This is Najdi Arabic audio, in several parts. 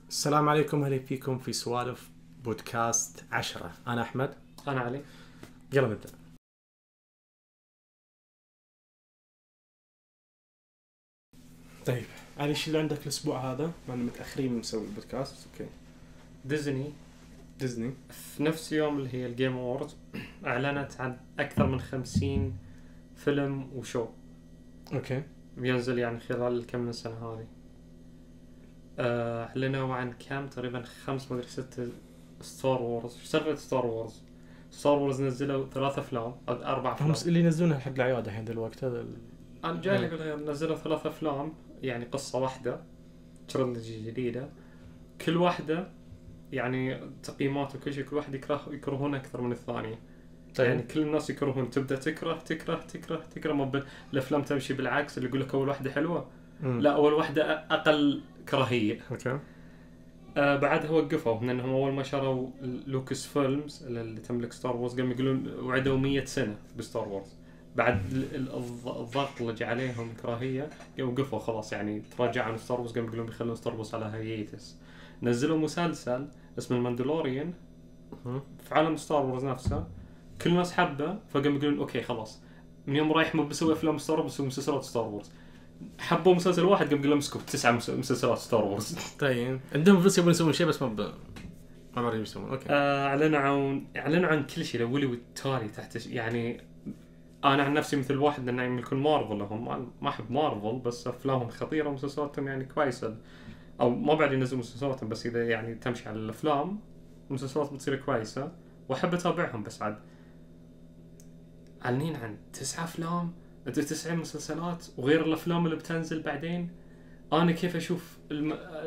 السلام عليكم، اهلا فيكم في سوالف بودكاست 10. انا احمد. أنا علي. يلا نبدا. طيب علي، ايش اللي عندك الاسبوع هذا؟ ما متاخرين نسوي البودكاست. اوكي. ديزني في نفس يوم اللي هي الجيم أووردز أعلنت عن أكثر من 50 فيلم وشو اوكي بينزل يعني خلال كم من سنة هذه. أعلنوا عن كم تقريبا 5 مدري 6 ستار وورز. شو سالفة ستار وورز نزلوا 3 أفلام أو 4 أفلام. هم اللي ينزلونها حق العياد الحين دلوقتي هذا أنا جاي لك نزلوا 3 أفلام يعني قصة واحدة ترندجي جديدة، كل واحدة يعني تقييمات وكل شيء، كل واحد يكرهون أكثر من الثانية. طيب. يعني كل الناس يكرهون، تبدأ تكره ما الأفلام تمشي بالعكس، اللي يقولك أول واحدة حلوة لا أول واحدة أقل كراهية. اوكي. بعدها وقفوا لأنهم أول ما شروا لوكس فيلمز اللي تملك ستار وورز قاموا يقولون وعدوا 100 سنة بستار وورز. بعد الضغط اللي جاء عليهم كراهية وقفوا خلاص، يعني تراجعوا عن ستار وورز، قاموا يقولون بيخلون ستار وورز على هييتس. نزلوا مسلسل اسمه الماندلوريان في عالم ستار وورز نفسه، كل الناس حبه، فقاموا يقولون اوكي خلاص من يوم رايح مو بسوي افلام ستار وورز بسوي مسلسلات ستار وورز. حبوا مسلسل واحد قام قالوا مسكوا 9 مسلسلات ستار وورز. طيب عندهم فلوس يبون يسوون شيء بس ما بعرف يسوون. اوكي. اعلنوا عن كل شيء، لولي والتالي تحت يعني. انا عن نفسي مثل واحد لان يملكون مارفل، هم ما احب مارفل بس افلامهم خطيره ومسلسلاتهم يعني كويسه، او ما بعد ينزلوا مسلسلاتهم بس اذا يعني تمشي على الافلام المسلسلات بتصير كويسه واحب اتابعهم. بس عاد اعلنين عن 9 افلام 9 مسلسلات وغير الافلام اللي بتنزل بعدين. انا كيف اشوف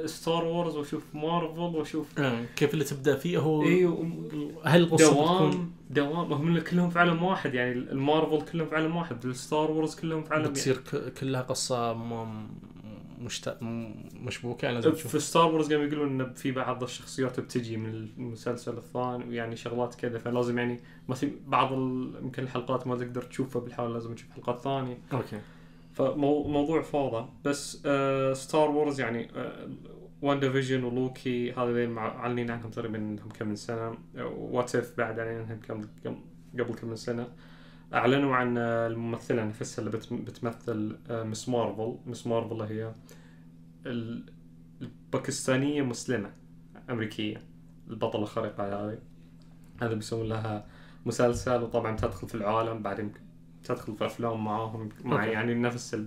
ستار وورز واشوف مارفل واشوف كيف اللي تبدا فيه هو هل القصه دوام هم كلهم في عالم واحد، يعني المارفل كلهم في عالم واحد، الستار وورز كلهم في عالم بتصير كلها قصه مشبوكه يعني لازم تشوف. في ستار وورز قاموا يقولون ان في بعض الشخصيات بتجي من المسلسل الثاني ويعني شغلات كذا، فلازم يعني مثلا بعض يمكن الحلقات ما تقدر تشوفها بالحال، لازم تشوف حلقات ثانيه. اوكي. فموضوع فاضي. بس ستار وورز يعني واندا فيجن ولوكي هذا معلنين عنهم تقريبا انهم كم من سنه، وات اف بعد علينا انهم قبل كم من سنه. اعلنوا عن الممثله نفسها اللي بتمثل مس مارفل هي الباكستانيه مسلمه امريكيه، البطله الخارقه هذا بيسوون لها مسلسل، وطبعا تدخل في العالم بعدين تدخل في افلام معاهم مع يعني نفس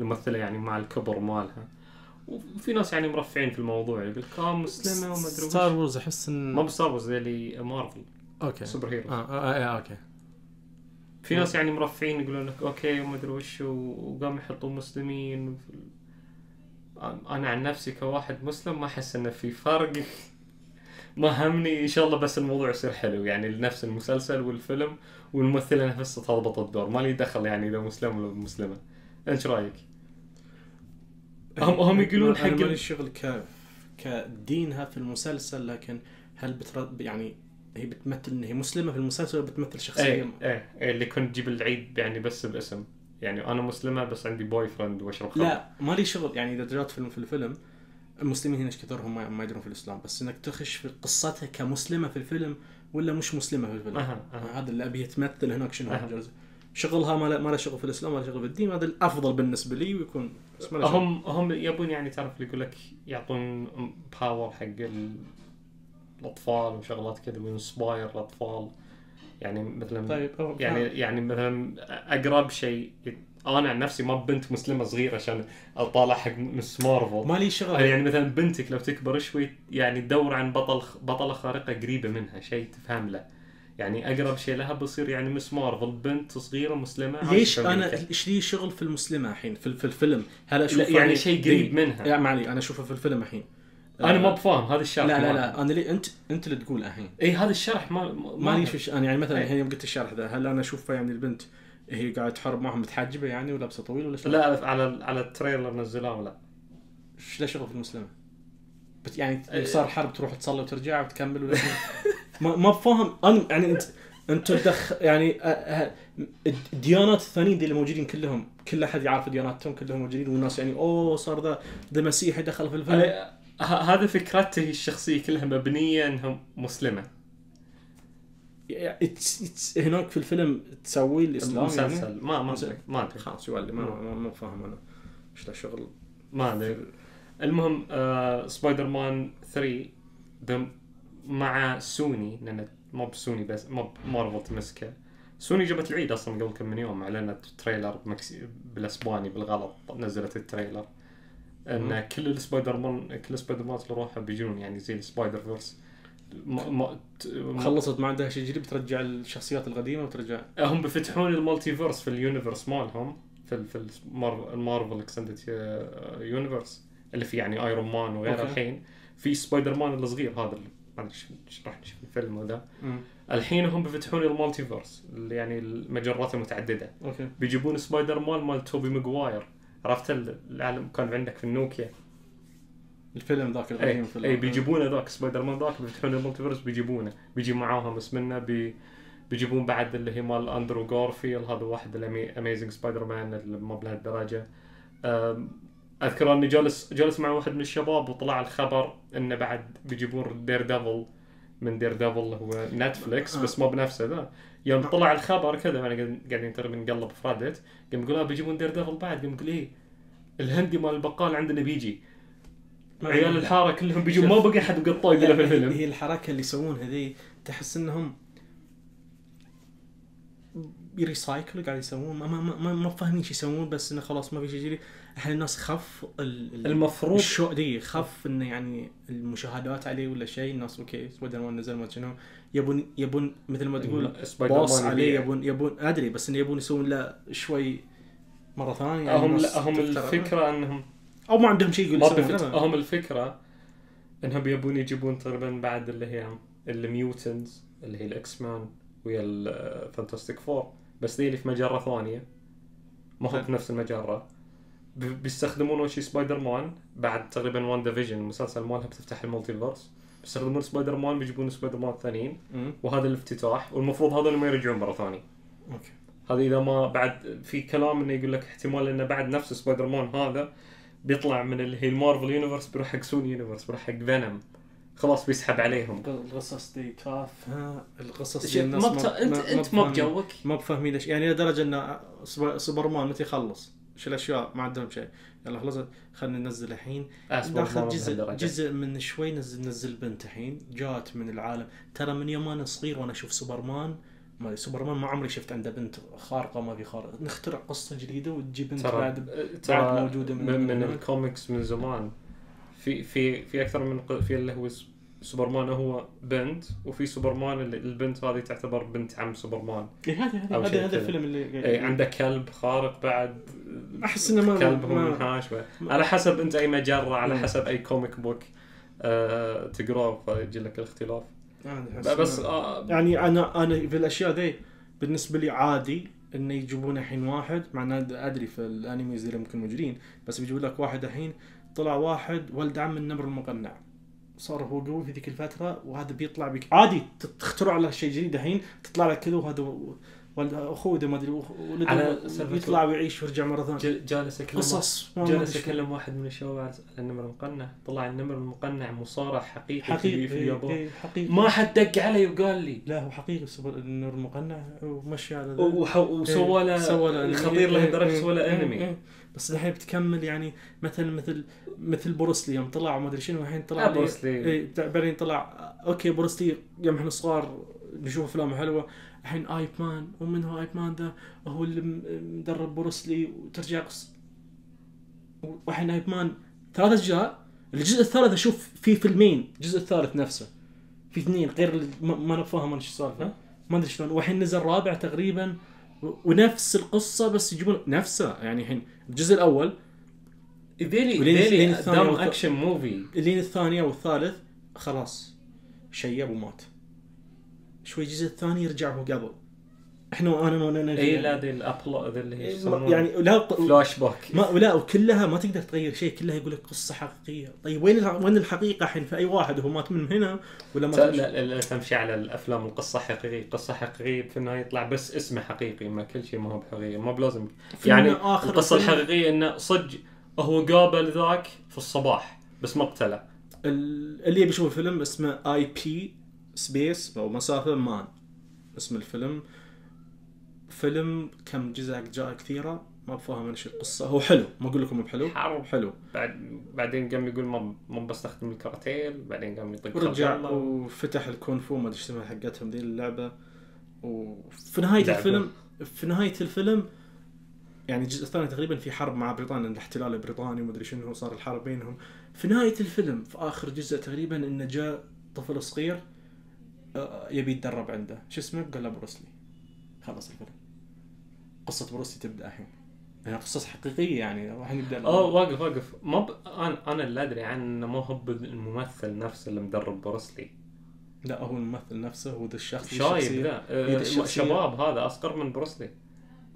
الممثله يعني مع الكبر مالها. وفي ناس يعني مرفعين في الموضوع يقول مسلمه وما ادري وش. ستار وورز احس ان ما بستار وورز اللي مارفل. اوكي. سوبر هيروز. اوكي. في ناس يعني مرفعين يقولون لك اوكي وما ادري وش، وقام يحطوا مسلمين. انا عن نفسي كواحد مسلم ما احس انه في فرق. ما همني ان شاء الله بس الموضوع يصير حلو، يعني لنفس المسلسل والفيلم والممثله نفسها تضبط الدور، ما لي دخل يعني اذا مسلم ولا مسلمه. انت رايك؟ هم يقولون حق الشغل كدينها في المسلسل، لكن هل يعني هي بتمثل ان هي مسلمه في المسلسل ولا بتمثل شخصيه؟ اللي كنت تجيب العيد يعني بس باسم، يعني انا مسلمه بس عندي بوي فريند واشرب خمر. لا ما لي شغل، يعني اذا جرت في الفيلم المسلمين هنا كثرهم ما يدرون في الاسلام، بس انك تخش في قصتها كمسلمه في الفيلم ولا مش مسلمه في الفيلم. هذا اللي ابي تمثل هناك شنو شغلها، ما له شغل في الاسلام ولا شغل في الدين. هذا الافضل بالنسبه لي ويكون هم يبون يعني تعرف اللي يقول لك يعطون باور حق الاطفال وشغلات كذا وينسباير الاطفال، يعني مثلا طيب يعني مثلا اقرب شيء. انا عن نفسي ما بنت مسلمه صغيره عشان اطالع حق مس مارفل، ما لي شغل. يعني مثلا بنتك لو تكبر شوي يعني تدور عن بطله خارقه قريبه منها، شيء تفهم له، يعني اقرب شيء لها بصير يعني مس مارفل، بنت صغيره مسلمه. ليش انا ايش لي شغل في المسلمه الحين في الفيلم؟ هل اشوف يعني شيء قريب منها؟ يعني معلي انا اشوفه في الفيلم الحين. انا ما بفهم هذا الشرح. لا انا ليه انت اللي تقول الحين. هذا الشرح ما ليش انا يعني مثلا الحين يوم قلت الشرح ذا، هل انا اشوفه يعني البنت هي قاعده تحارب معهم متحجبه يعني ولابسه طويل ولا شيء؟ لا على التريلر نزلوه. ولا ايش له شغل في المسلمه؟ يعني صار حرب تروح تصلي وترجع وتكمل ولا ما بفهم انا يعني انت يعني الديانات الثانيين دي اللي موجودين كل احد يعرف دياناتهم كلهم موجودين، والناس يعني صار ذا مسيحي دخل في الفيلم. هذا فكرته الشخصيه كلها مبنيه انها مسلمه. هناك في الفيلم تسوي الاسلام مسلسل يعني؟ ما ادري خلاص يولي ما فاهم انا ايش له شغل. ما ادري. المهم سبايدر مان 3 مع سوني، لان مو بسوني بس مو مارفل تمسكه. سوني جابت العيد اصلا قبل كم من يوم، اعلنت تريلر بالاسباني بالغلط، نزلت التريلر ان كل السبايدر مان اللي روحه بيجون يعني زي السبايدر فيرس. خلصت ما عندها شيء جديد، بترجع الشخصيات القديمه وترجع. هم بيفتحون المالتي فيرس في اليونيفرس مالهم، في المارفل اكستندد يونيفرس اللي فيه يعني ايرون مان وغيره. الحين في سبايدر مان الصغير هذا اللي ما ادري ايش راح نشوف الفيلم هذا. الحين هم بيفتحون المالتي فيرس اللي يعني المجرات المتعدده. بيجيبون سبايدر مان مال توبي ماغواير، عرفت العالم كان عندك في النوكيا الفيلم ذاك القديم. اي بيجيبونه ذاك سبايدر مان ذاك، بيفتحون المالتي فيرس بيجيبونه، بيجي معاهم بس منه بيجيبون بعد اللي هي مال اندرو غارفيلد، هذا واحد الاميزنج سبايدر مان اللي ما بلهالدرجه. اذكر اني جالس مع واحد من الشباب وطلع الخبر انه بعد بيجيبون دير ديفل من دير ديفل هو نتفليكس بس ما بنفسه ذا. يوم طلع الخبر كذا وانا قاعدين ترى بنقلب في ريدت، قام يقول بيجيبون دير ديفل بعد، قام يقول ايه الهندي مال البقال عندنا بيجي، عيال الحاره كلهم بيجوا، ما بقى حد قطاي الا في الفيلم. هي الحركه اللي يسوونها ذي تحس انهم يريسايكلوا قاعد يسوون ما فاهمين ايش يسوون، بس انه خلاص ما في شيء جديد. الحين الناس خف المفروض الشو دي خف انه يعني المشاهدات عليه ولا شيء. الناس اوكي سبايدر مان نزل ما شنو يبون مثل ما تقول باص عليه، يبون ادري بس انه يبون يسوون له شوي مره ثانيه يعني. هم الفكره انهم او ما عندهم شيء يقول هم الفكره انهم يبون يجيبون تقريبا بعد اللي هي الميوتنز اللي هي الاكس مان ويا الفانتاستيك فور، بس دي اللي في مجره ثانيه ما هو بنفس المجره. بيستخدمون وشي سبايدر مان بعد تقريبا وان ديفيجن المسلسل مالها بتفتح المالتي فيرس، بيستخدمون سبايدر مان بيجيبون سبايدر مان ثانيين وهذا الافتتاح، والمفروض هذا اللي ما يرجعون مره ثانيه. هذا اذا ما بعد في كلام انه يقول لك احتمال انه بعد نفس سبايدر مان هذا بيطلع من اللي هي المارفل يونيفرس بيروح حق سوني يونيفرس، بيروح حق فينوم، خلاص بيسحب عليهم. القصص دي تافهه، القصص دي الناس انت ما بجوك، ما بفهمين ليش يعني لدرجه ان سوبرمان متى يخلص ايش الاشياء ما عندهم شيء. يلا خلصت خلينا ننزل الحين ناخذ جزء من شوي. نزل بنت الحين جات من العالم. ترى من يوم انا صغير وانا اشوف سوبرمان ما عمري شفت عنده بنت خارقه، ما في خارق. نخترع قصه جديده وتجيب بنت بعد موجوده من الكوميكس من زمان. في اكثر من في اللي هو سوبرمان هو بنت، وفي سوبرمان اللي البنت هذه تعتبر بنت عم سوبرمان. هذا الفيلم اللي عنده كلب خارق بعد. احس انه كلب منحاش على حسب انت اي مجره، على حسب اي كوميك بوك تقراه فيجي لك الاختلاف. بس يعني انا في الاشياء ذي بالنسبه لي عادي انه يجيبون الحين واحد، مع ادري في الانميز اللي ممكن موجودين، بس بيجيبوا لك واحد الحين طلع واحد ولد عم النمر المقنع، صار هو قوي في ذيك الفتره، وهذا بيطلع بك عادي تخترع له شيء جديد الحين تطلع لك كذا، وهذا ولد اخوه ده ما ادري ولده يطلع ويعيش ويرجع مره ثانيه. جالس اكلم واحد من الشباب على النمر المقنع، طلع النمر المقنع مصارع حقيقي في اليابان. ما حد دق علي وقال لي لا هو حقيقي النمر المقنع، ومشي على وسوى له الخطير لهالدرجه، سوى له انمي. بس الحين بتكمل يعني مثل بروسلي يوم طلع وما ادري شنو، الحين طلع بروسلي بعدين طلع اوكي بروسلي يوم احنا صغار نشوف افلام حلوه. الحين ايب مان، ومن هو ايب مان ده هو اللي مدرب بروسلي، وترجع قصه. والحين ايب مان 3 أجزاء، الجزء الثالث اشوف فيه فيلمين، الجزء الثالث نفسه في 2 غير ما نفهم ايش السالفه، ما ادري شلون. والحين نزل رابع تقريبا ونفس القصه بس يجيبون نفسها. يعني الحين الجزء الاول ذيلي دام اكشن موفي، اللين الثانيه والثالث خلاص شيب ومات شوي. الجزء الثاني يرجع هو قبل. احنا انا اي لا ذي الابلود اللي هي يعني لا فلاش باك لا، وكلها ما تقدر تغير شيء، كلها يقول لك قصه حقيقيه. طيب وين الحقيقه الحين في اي واحد؟ هو مات من هنا ولا ما لا تمشي على الافلام القصه حقيقيه، قصه حقيقيه في النهايه يطلع بس اسمه حقيقي، ما كل شيء ما هو بحقيقي، ما بلازم يعني القصه الحقيقيه انه صدق هو قابل ذاك في الصباح بس ما قتله. اللي يبي يشوف الفيلم اسمه IP سبيس او مسافة مان اسم الفيلم. فيلم كم جزء جاء كثيرة ما بفهم ايش القصة. هو حلو ما اقول لكم بحلو حلو. بعدين قام يقول ما بستخدم الكاراتيه بعدين قام يطق ورجع وفتح الكونفو ما ادري ايش اسمها حقتهم ذي اللعبة. وفي نهاية الفيلم يعني الجزء الثاني تقريبا في حرب مع بريطانيا الاحتلال البريطاني وما ادري شنو صار الحرب بينهم. في نهاية الفيلم في آخر جزء تقريبا إنه جاء طفل صغير يبي يتدرب عنده شو اسمه قال له بروسلي. خلص الفيلم قصة بروسلي تبدأ الحين يعني قصص حقيقية يعني راح نبدأ. واقف أنا اللي أدري عنه مو هو الممثل نفسه اللي مدرب بروسلي. لا هو الممثل نفسه هو ذا الشخص شايب ذا شباب هذا أصغر من بروسلي.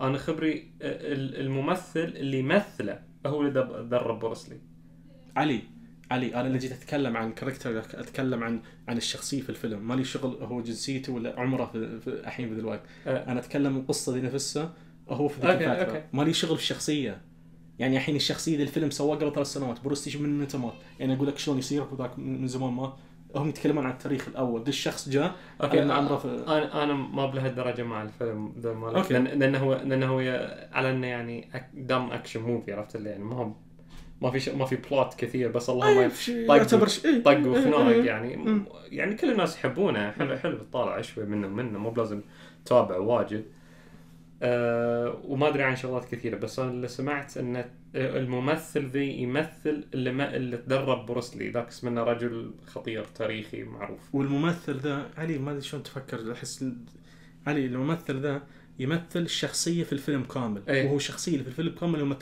أنا خبري الممثل اللي يمثله هو اللي درب بروسلي. علي أنا اللي جيت أتكلم عن كاركتر أتكلم عن الشخصية في الفيلم. مالي شغل هو جنسيته ولا عمره في الحين في الوقت. أنا أتكلم القصة دي نفسها هو في ذيك الفترة. مالي شغل في الشخصية يعني الحين الشخصية دي الفيلم سواه قبل 3 سنوات. بروسلي من متى مات يعني أقول لك شلون يصير وذاك من زمان ما هم يتكلمون عن التاريخ الأول. ده الشخص جاء أنا ما بلهالدرجة مع الفيلم ده مالك لأنه هو على إنه يعني دم أكشن موفي عرفت اللي يعني ما في بلوت كثير بس الله ما طق وخناق يعني كل الناس يحبونه. حلو تطالع شوي منه مو بلازم تابع واجد. وما أدري عن شغلات كثيرة بس أنا اللي سمعت إن الممثل ذي يمثل اللي تدرب بروسلي ذاك اسمه رجل خطير تاريخي معروف. والممثل ذا علي ما أدري شلون تفكر أحس علي الممثل ذا يمثل الشخصية في الفيلم كامل. وهو شخصية في الفيلم كامل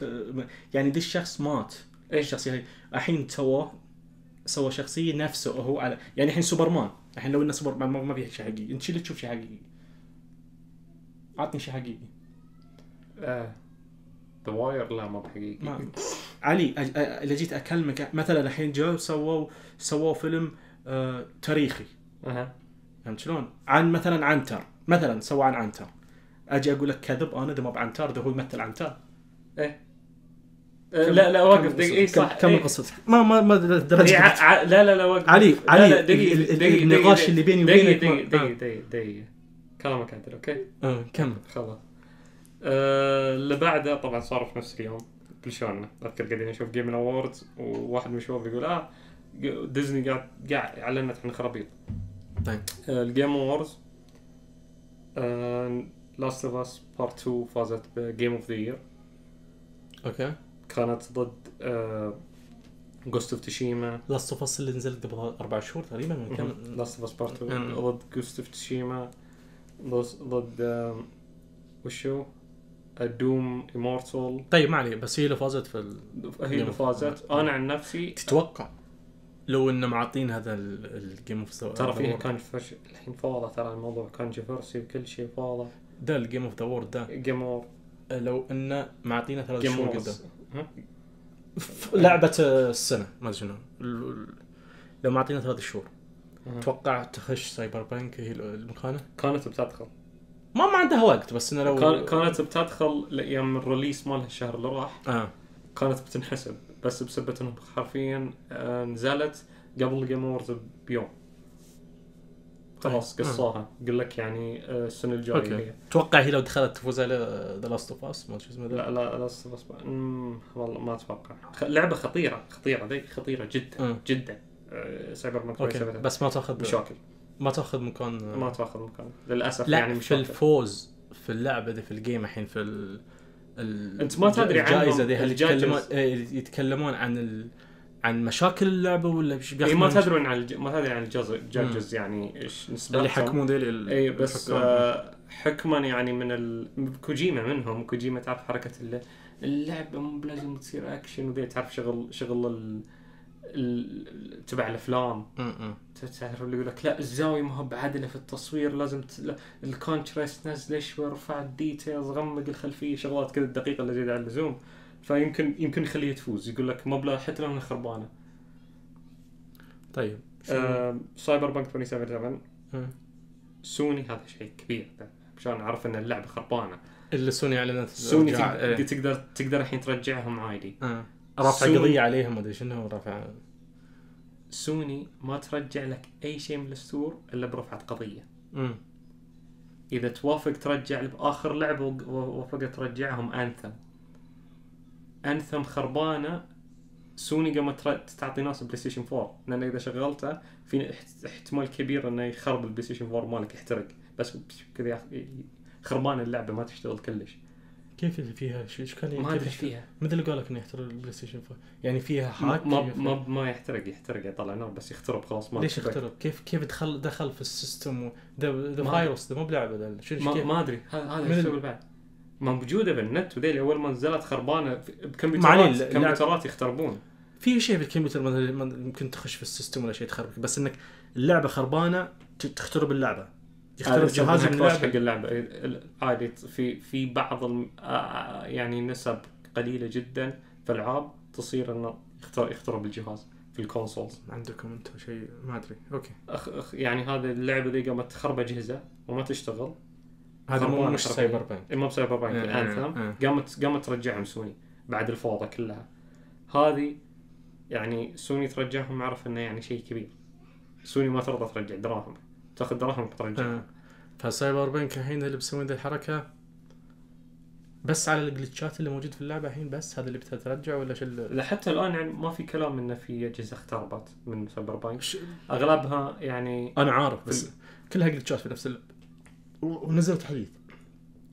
يعني دي الشخص مات الشخصية هاي الحين سوى شخصية نفسه هو على يعني الحين سوبرمان. الحين لو إنه سوبرمان ما فيه شيء حقيقي. أنت شو اللي تشوف شيء حقيقي؟ عطني شيء حقيقي. The Wire لا ما بحقيقي. علي اللي جيت أكلمك مثلا الحين جاء سووا فيلم تاريخي. فهمت شلون؟ عن مثلا عنتر مثلا سوى عن عنتر. أجي أقول لك كذب أنا ده ما بعنتر ده هو يمثل عنتر. لا واقف دقيقة صح. كم قصتك ما درجة لا واقف علي النقاش اللي بيني وبينك دقيقة كلامك عدل اوكي كمل خلاص. اللي بعده طبعا صار في نفس اليوم بلشوننا اذكر قاعدين نشوف جيم اووردز وواحد من الشباب يقول ديزني قاعد اعلنت عن خرابيط. طيب الجيم اووردز لاست اوف اس بارت 2 فازت بجيم اوف ذا يير. اوكي كانت ضد جوست اوف تشيما. لاست اوف اس اللي نزلت قبل 4 شهور تقريبا من كم. لاست اوف اس بارت 2 ضد جوست اوف تشيما ضد وشو دوم إيمورتال. طيب ما عليه بس هي اللي فازت هي اللي فازت. أنا عن نفسي تتوقع لو إنه معطين هذا الجيم اوف ذا ترى فيه كان فش الحين فاضة. ترى الموضوع كان جفرسي وكل شيء فاضة. ده الجيم اوف ذا وورد ده جيم وور لو إنه معطينا 3 شهور قدام لعبة السنة ما أدري شنو لو معطينا 3 شهور توقع تخش سايبر بانك هي المكانة. كانت بتدخل ما عندها وقت بس إنه لو كانت بتدخل لأيام الريليس مالها الشهر اللي راح كانت بتنحسب بس بسبب إنه حرفيا نزلت قبل الجيم أووردز بيوم خلاص قصاها قل لك يعني السنة الجاية هي. توقع هي لو دخلت تفوز على ذا لاست اوف اس ما شو اسمه لا لاست اوف اس والله ما اتوقع. لعبة خطيرة ذي خطيرة جدا جدا. سايبر بانك بس ما تاخذ مشاكل ما تاخذ مكان للاسف يعني مشاكل. في الفوز في اللعبة دي في الجيم الحين في انت ما تدري عن الجائزة دي هل يتكلمون عن مشاكل اللعبة ولا ما تدرون عن الجاجز يعني ايش نسبتهم اللي يحكمون ذي اي بس حكما يعني من كوجيما منهم. كوجيما تعرف حركة اللعبة مو لازم تصير اكشن وذي تعرف شغل تبع الافلام. تعرف اللي يقول لك لا الزاويه ما هو بعدله في التصوير لازم الكونتراست نزله شوي رفع الديتيلز غمق الخلفيه شغلات كذا الدقيقه اللي زياده عن اللزوم فيمكن يخليها تفوز. يقول لك مبلغ حتى لو انها خربانه. طيب سايبر بانك 2077 سوني هذا شيء كبير عشان نعرف ان اللعبه خربانه. اللي سوني اعلنت سوني تقدر الحين ترجعهم عادي. رفع قضيه عليهم ما ادري شنو رفع سوني ما ترجع لك اي شيء من الستور الا برفعة قضية. اذا توافق ترجع باخر لعبة ووافقت ترجعهم انثم خربانة. سوني قامت تعطي ناس بلاي ستيشن 4، لان اذا شغلته في احتمال كبير انه يخرب البلاي ستيشن 4 مالك، يحترق بس كذا خربان اللعبة ما تشتغل كلش. كيف فيها ايش كان ما ادري فيها مثل اللي قالك انه يحترق البلاي ستيشن 4 يعني فيها هاك ما يحترق يطلع نار بس يخترب خلاص. ما ليش يخترب؟ كيف دخل في السيستم ده فايروس ده مو بلعبه ده ما ادري هذا الشغل بعد ما موجوده بالنت وذيل اول ما نزلت خربانه بكمبيوترات يختربون. في شيء بالكمبيوتر ممكن تخش في السيستم ولا شيء تخربك، بس انك اللعبه خربانه تخترب اللعبه، يخترب جهاز من اللعبه عادي. في بعض يعني نسب قليله جدا في العاب تصير انه يخترب الجهاز في الكونسولز. عندكم انتم شيء ما ادري اوكي يعني هذه اللعبه دي قامت تخرب اجهزه وما تشتغل. هذا مش سايبر بانك، مو سايبر بانك انثم. قامت ترجعهم سوني بعد الفوضى كلها هذه. يعني سوني ترجعهم، عرف انه يعني شيء كبير. سوني ما ترضى ترجع دراهم، تاخذ دراهم ترجع. فسايبر بانك الحين اللي بيسوون ذي الحركه بس على الجلتشات اللي موجود في اللعبه الحين، بس هذا اللي بترجع ولا شو؟ لا حتى الان يعني ما في كلام انه في اجهزه اختربت من سايبر بانك. اغلبها يعني انا عارف بس كلها جلتشات في نفس اللعبه. ونزلت حديث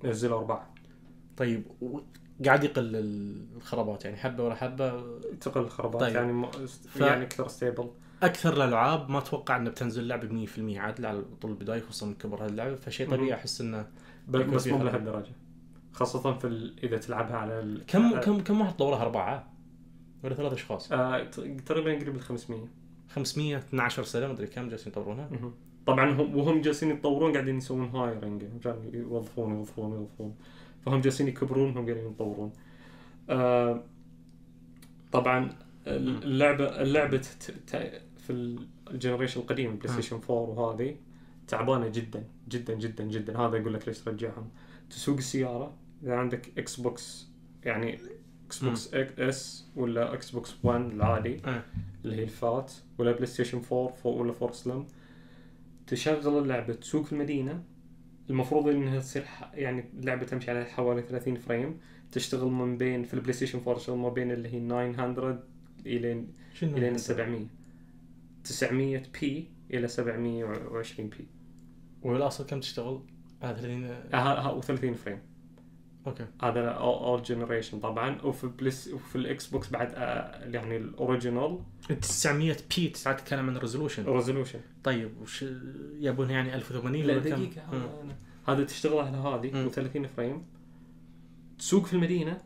نزلوا 4. طيب قاعد يقل الخرابات يعني حبه ولا حبه تقل الخرابات. طيب. يعني اكثر ستيبل. اكثر الالعاب ما اتوقع انه بتنزل لعبه 100% عادله على طول البدايه، خصوصا من كبر هاللعبه، فشيء طبيعي احس انه بس مو لهالدرجه، خاصه في اذا تلعبها على كم واحد طورها 4 ولا 3 اشخاص؟ تقريبا قريب ال 500 12 سنه ما ادري كم جالسين يطورونها. طبعا وهم جالسين يتطورون قاعدين يسوون هايرنج عشان يوظفون فهم جالسين يكبرون هم قاعدين يتطورون. طبعا اللعبه في الجنريشن القديم بلاي ستيشن 4 وهذه تعبانه جدا جدا جدا جدا. هذا يقول لك ليش ترجعهم. تسوق السياره اذا عندك اكس بوكس، يعني اكس بوكس اس ولا اكس بوكس 1 العادي اللي هي الفات، ولا بلاي ستيشن 4 ولا 4 سلم، تشغل اللعبه تسوق في المدينه. المفروض انها تصير يعني اللعبه تمشي على حوالي 30 فريم، تشتغل من بين في البلاي ستيشن 4 تشتغل ما بين اللي هي 900 الى 900 بي الى 720 بي. والاصل كم تشتغل؟ 30 فريم. اوكي هذا اول جنريشن طبعا. وفي الاكس بوكس بعد يعني الاوريجينال 900 بي تتكلم عن ريزولوشن. طيب وش يبون يعني 1080 ولا دقيقه هذا تشتغل على هذه و30 فريم، تسوق في المدينه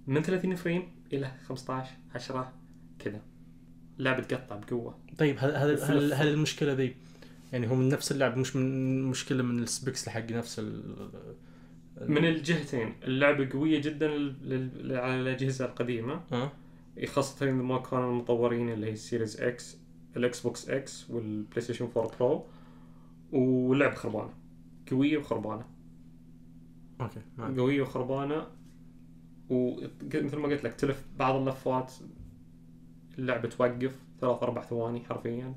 من 30 فريم الى 15 10 كذا، لعبه تقطع بقوه. طيب هل المشكله ذي يعني هو من نفس اللعب مش من مشكله من السبيكس حق نفس من الجهتين؟ اللعبه قويه جدا على الاجهزه القديمه خاصه اذا ما كانوا المطورين اللي هي السيريز اكس، الاكس بوكس اكس والبلاي ستيشن 4 برو، واللعبه خربانه قويه وخربانه. اوكي قويه وخربانه، ومثل ما قلت لك تلف بعض اللفات اللعبه توقف 3-4 ثواني حرفيا.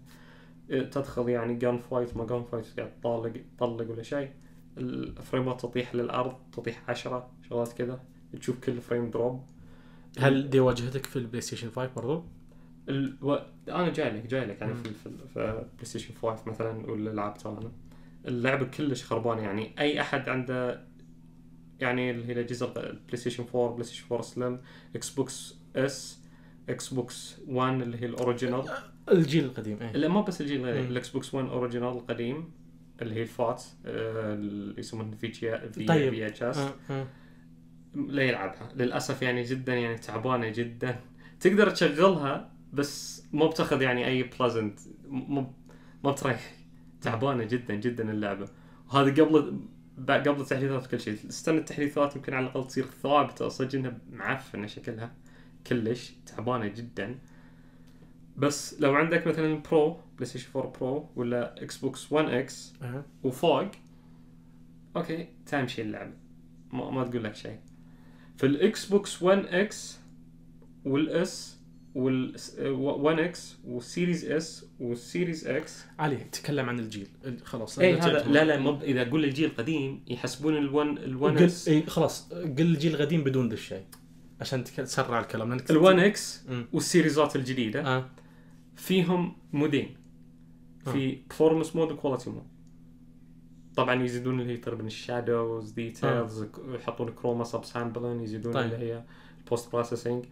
تدخل يعني جان فايت ما جان فايت قاعد تطلق ولا شيء، الفريمات تطيح للارض، تطيح 10 شغلات كذا، تشوف كل فريم دروب. هل دي واجهتك في البلاي ستيشن 5 برضو؟ انا جاي لك يعني في بلاي ستيشن 5 مثلا ولا لعبت انا اللعبه كلش خربانه. يعني اي احد عنده يعني اللي هي الاجهزه البلاي ستيشن 4 بلاي ستيشن 4 سلم، اكس بوكس اس، اكس بوكس 1 اللي هي الاوريجينال الجيل القديم لا ما بس الجيل الاكس بوكس 1 اوريجينال القديم اللي هي الفات اللي يسمونه في اتش اس لا يلعبها للاسف. يعني جدا يعني تعبانه جدا. تقدر تشغلها بس ما بتاخذ يعني اي بلازنت، ما بتريح. تعبانه جدا جدا اللعبه. وهذا قبل التحديثات كل شيء. استنى التحديثات يمكن على الاقل تصير ثابته، صدق انها معفنه شكلها كلش تعبانه جدا. بس لو عندك مثلا برو بلاي ستيشن 4 برو ولا اكس بوكس 1 اكس وفوق اوكي تمشي اللعبه، ما تقول لك شيء. في الاكس بوكس 1 اكس والاس وال1 اكس والسيريز اس والسيريز اكس. علي تكلم عن الجيل خلاص. هذا لا اذا اقول الجيل القديم يحسبون ال1 اكس. خلاص قل الجيل القديم بدون ذا الشيء عشان تسرع الكلام. ال1 اكس والسيريزات الجديده فيهم مودين، في performance مود وكواليتي مود. طبعا يزيدون اللي هي تقريبا الشادوز ديتيلز، يحطون كروما سب سامبلين، يزيدون اللي هي البوست بروسيسنج.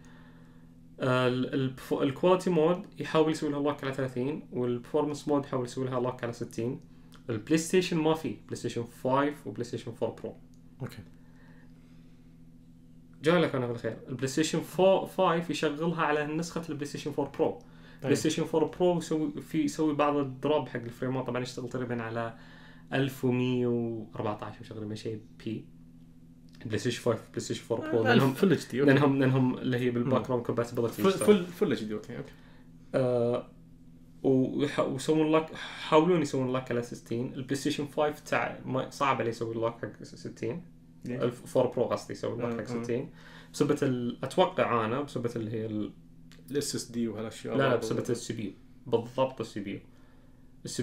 الكواليتي مود يحاول يسوي لها لوك على 30، والبرفورمانس مود يحاول يسوي لها لوك على 60. البلاي ستيشن ما في بلاي ستيشن 5 وبلاي ستيشن 4 برو. اوكي جاي لك انا بالخير. البلاي ستيشن 5 يشغلها على نسخه البلاي ستيشن 4 برو. بلاي ستيشن 4 برو يسوي بعض الدروب حق الفريمات. طبعا يشتغل تقريبا على 1114 وشغله شيء بي. بلاي ستيشن 5 بلاي ستيشن 4 برو لانهم فل اتش دي، لانهم اللي هي بالباك جراوند كومباتيبلتي فل اتش دي. اوكي ويسوون لك، حاولون يسوون لك على 60. البلاي ستيشن 5 صعب عليه يسوي لك حق 60. الفور برو قصدي يسوي لك حق 60 بسبب اتوقع انا بسبب اللي هي الاس اس دي وهالاشياء. لا بسبب السي بي يو بالضبط. السي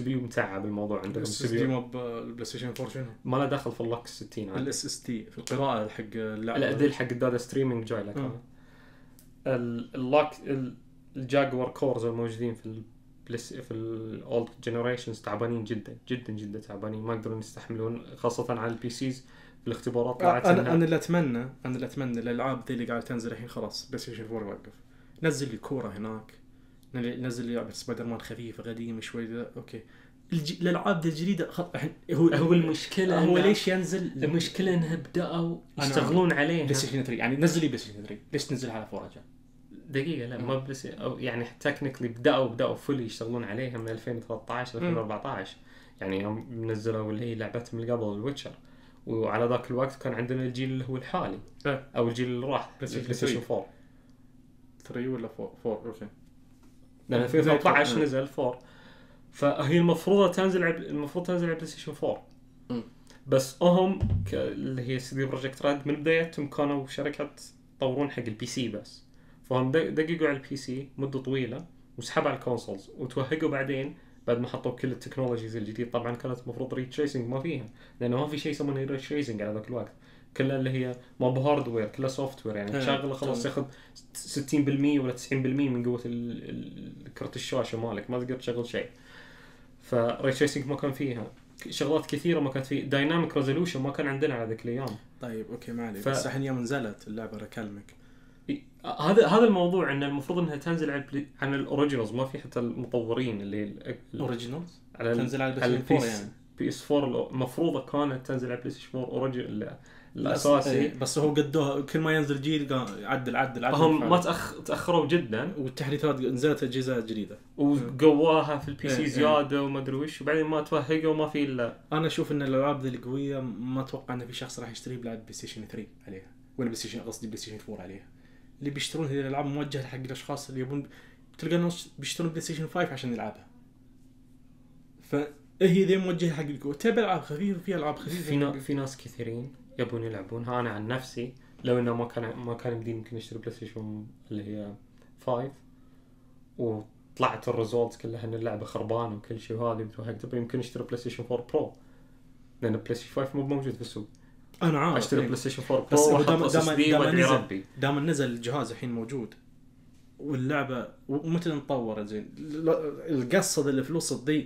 بي يو متعب الموضوع عندهم. السي بي يو بالبلاي ستيشن 4 شنو ما له دخل في اللوك 60 عادي. الاس اس تي في القراءه حق اللعبه. لا ذي حق الداتا ستريمينج جاي لك. اللوك الجاكور كورز الموجودين في الاولد جنريشنز تعبانين جدا جدا جدا تعبانين، ما يقدرون يستحملون خاصه على البي سيز. الاختبارات طلعت انا اللي اتمنى الالعاب ذي اللي قاعده تنزل الحين خلاص بلاي ستيشن 4 يوقف. نزل لي كوره هناك، نزل لي لعبه سبايدر مان خفيفه قديمه شوي. اوكي الالعاب الجديده هو المشكله هو ليش ينزل. المشكله انها بداوا يشتغلون عليه بلاي ستيشن 3. يعني نزل لي بلاي ستيشن 3 ليش تنزلها على 4 رجال دقيقه؟ لا ما بس يعني تكنيكلي بداوا فولي يشتغلون عليها من 2013 2014. يعني هم نزلوا اللي هي لعبتهم اللي قبل الويتشر، وعلى ذاك الوقت كان عندنا الجيل اللي هو الحالي او الجيل اللي راح بلاي ستيشن 4 3 ولا 4 اوكي. لأن 2013 نزل 4. فهي المفروض تنزل على بلاي ستيشن 4. بس هم اللي هي سي دي بروجكت ريد من بدايتهم كانوا شركة يطورون حق البي سي بس. فهم دققوا على البي سي مدة طويلة وسحبوا على الكونسولز وتوهقوا بعدين بعد ما حطوا كل التكنولوجيز الجديد. طبعا كانت المفروض ري تريسنج ما فيها، لأنه ما في شيء يسمونه ري تريسنج على ذاك الوقت. كلها اللي هي ما بهاردوير، كلها سوفت وير. يعني تشغله خلاص ياخذ 60% ولا 90% من قوة كرت الشاشة مالك، ما تقدر تشغل شيء. فري تريسنج ما كان فيها، شغلات كثيرة ما كانت فيه، دايناميك ريزولوشن ما كان عندنا على ذيك الأيام. طيب أوكي ما عليك. بس الحين يوم نزلت اللعبة أكلمك. هذا الموضوع إن المفروض إنها تنزل عن الأوريجينالز، ما في حتى المطورين اللي الأوريجينالز تنزل على البلاي ستيشن 4 يعني. PS4 المفروض كانت تنزل على بلاي ستيشن 4 أوريجينال الأساسي. بس هو قدوها كل ما ينزل جيل عدل هم ما تأخروا جدا، والتحديثات نزلت أجهزة جديدة وقواها في البي سي زيادة وما أدري وش، وبعدين ما توهقوا وما في إلا. أنا أشوف إن الألعاب ذي القوية ما أتوقع إن في شخص راح يشتري بلعب بلاي ستيشن 3 عليها ولا بلاي ستيشن قصدي بلاي ستيشن 4 عليها. اللي بيشترون هذه الألعاب موجهة حق الأشخاص اللي يبون، تلقى الناس بيشترون بلاي ستيشن 5 عشان يلعبها. فهي ذي موجهة حق القوة. تبي ألعاب خفيفة، في ألعاب خفيفة. في ناس كثيرين يبون يلعبونها. أنا عن نفسي لو إنه ما كان يمديني يمكن أشتري بلاي ستيشن اللي هي 5 وطلعت الريزولتس كلها إن اللعبة خربانة وكل شيء وهذه بتوهق، يمكن أشتري بلاي ستيشن 4 برو، لأن بلاي ستيشن 5 مو موجود في السوق. أنا عارف أشتري بلاي ستيشن 4 برو وأحط SSD وأدعي ربي. دام نزل الجهاز الحين موجود واللعبة ومتى نطور زين القصة الفلوس تضيع.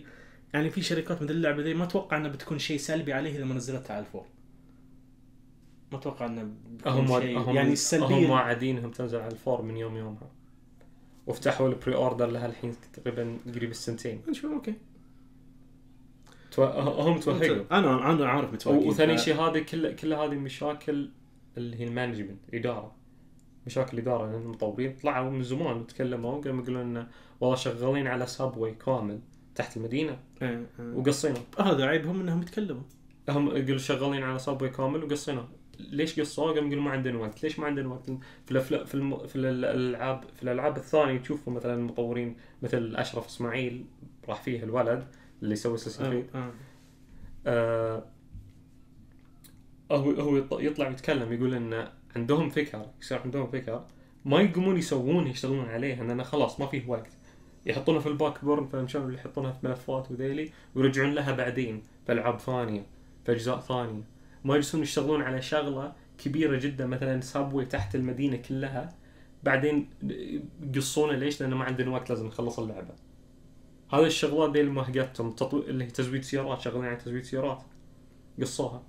يعني في شركات مثل اللعبة ذي ما أتوقع أنها بتكون شيء سلبي عليه إذا ما نزلتها على الفور. ما أتوقع أنه بتكون شيء يعني السلبية. هم واعدينهم تنزل على الفور من يومها، وافتحوا البري أوردر لها الحين تقريبا قريب السنتين. نشوف أوكي. هم توهقوا. أنا عارف متوهقين. وثاني شيء هذه كل هذه مشاكل اللي هي المانجمنت مشاكل إدارة. لأن المطورين طلعوا من زمان وتكلموا قالوا يقولون والله شغالين على سابوي كامل تحت المدينة وقصينا. هذا عيبهم انهم يتكلموا. هم يقولوا شغالين على صابوي كامل وقصينا. ليش قصوا؟ قالوا يقولوا ما عندنا وقت. ليش ما عندنا وقت؟ في الالعاب الثانيه تشوفوا مثلا المطورين مثل اشرف اسماعيل راح فيه الولد اللي يسوي اساسن هو يطلع يتكلم يقول ان عندهم فكره، يصير عندهم فكره ما يقومون يشتغلون عليها لأن خلاص ما فيه وقت. يحطونها في الباك بورن، فمشان اللي يحطونها في ملفات وذيلي ويرجعون لها بعدين في ألعاب ثانية في أجزاء ثانية. ما يجلسون يشتغلون على شغلة كبيرة جدا مثلا سابوي تحت المدينة كلها بعدين يقصونه. ليش؟ لأنه ما عندنا وقت، لازم نخلص اللعبة. هذه الشغلات دي المهجتهم اللي هي تزويد سيارات، شغالين على تزويد سيارات قصوها.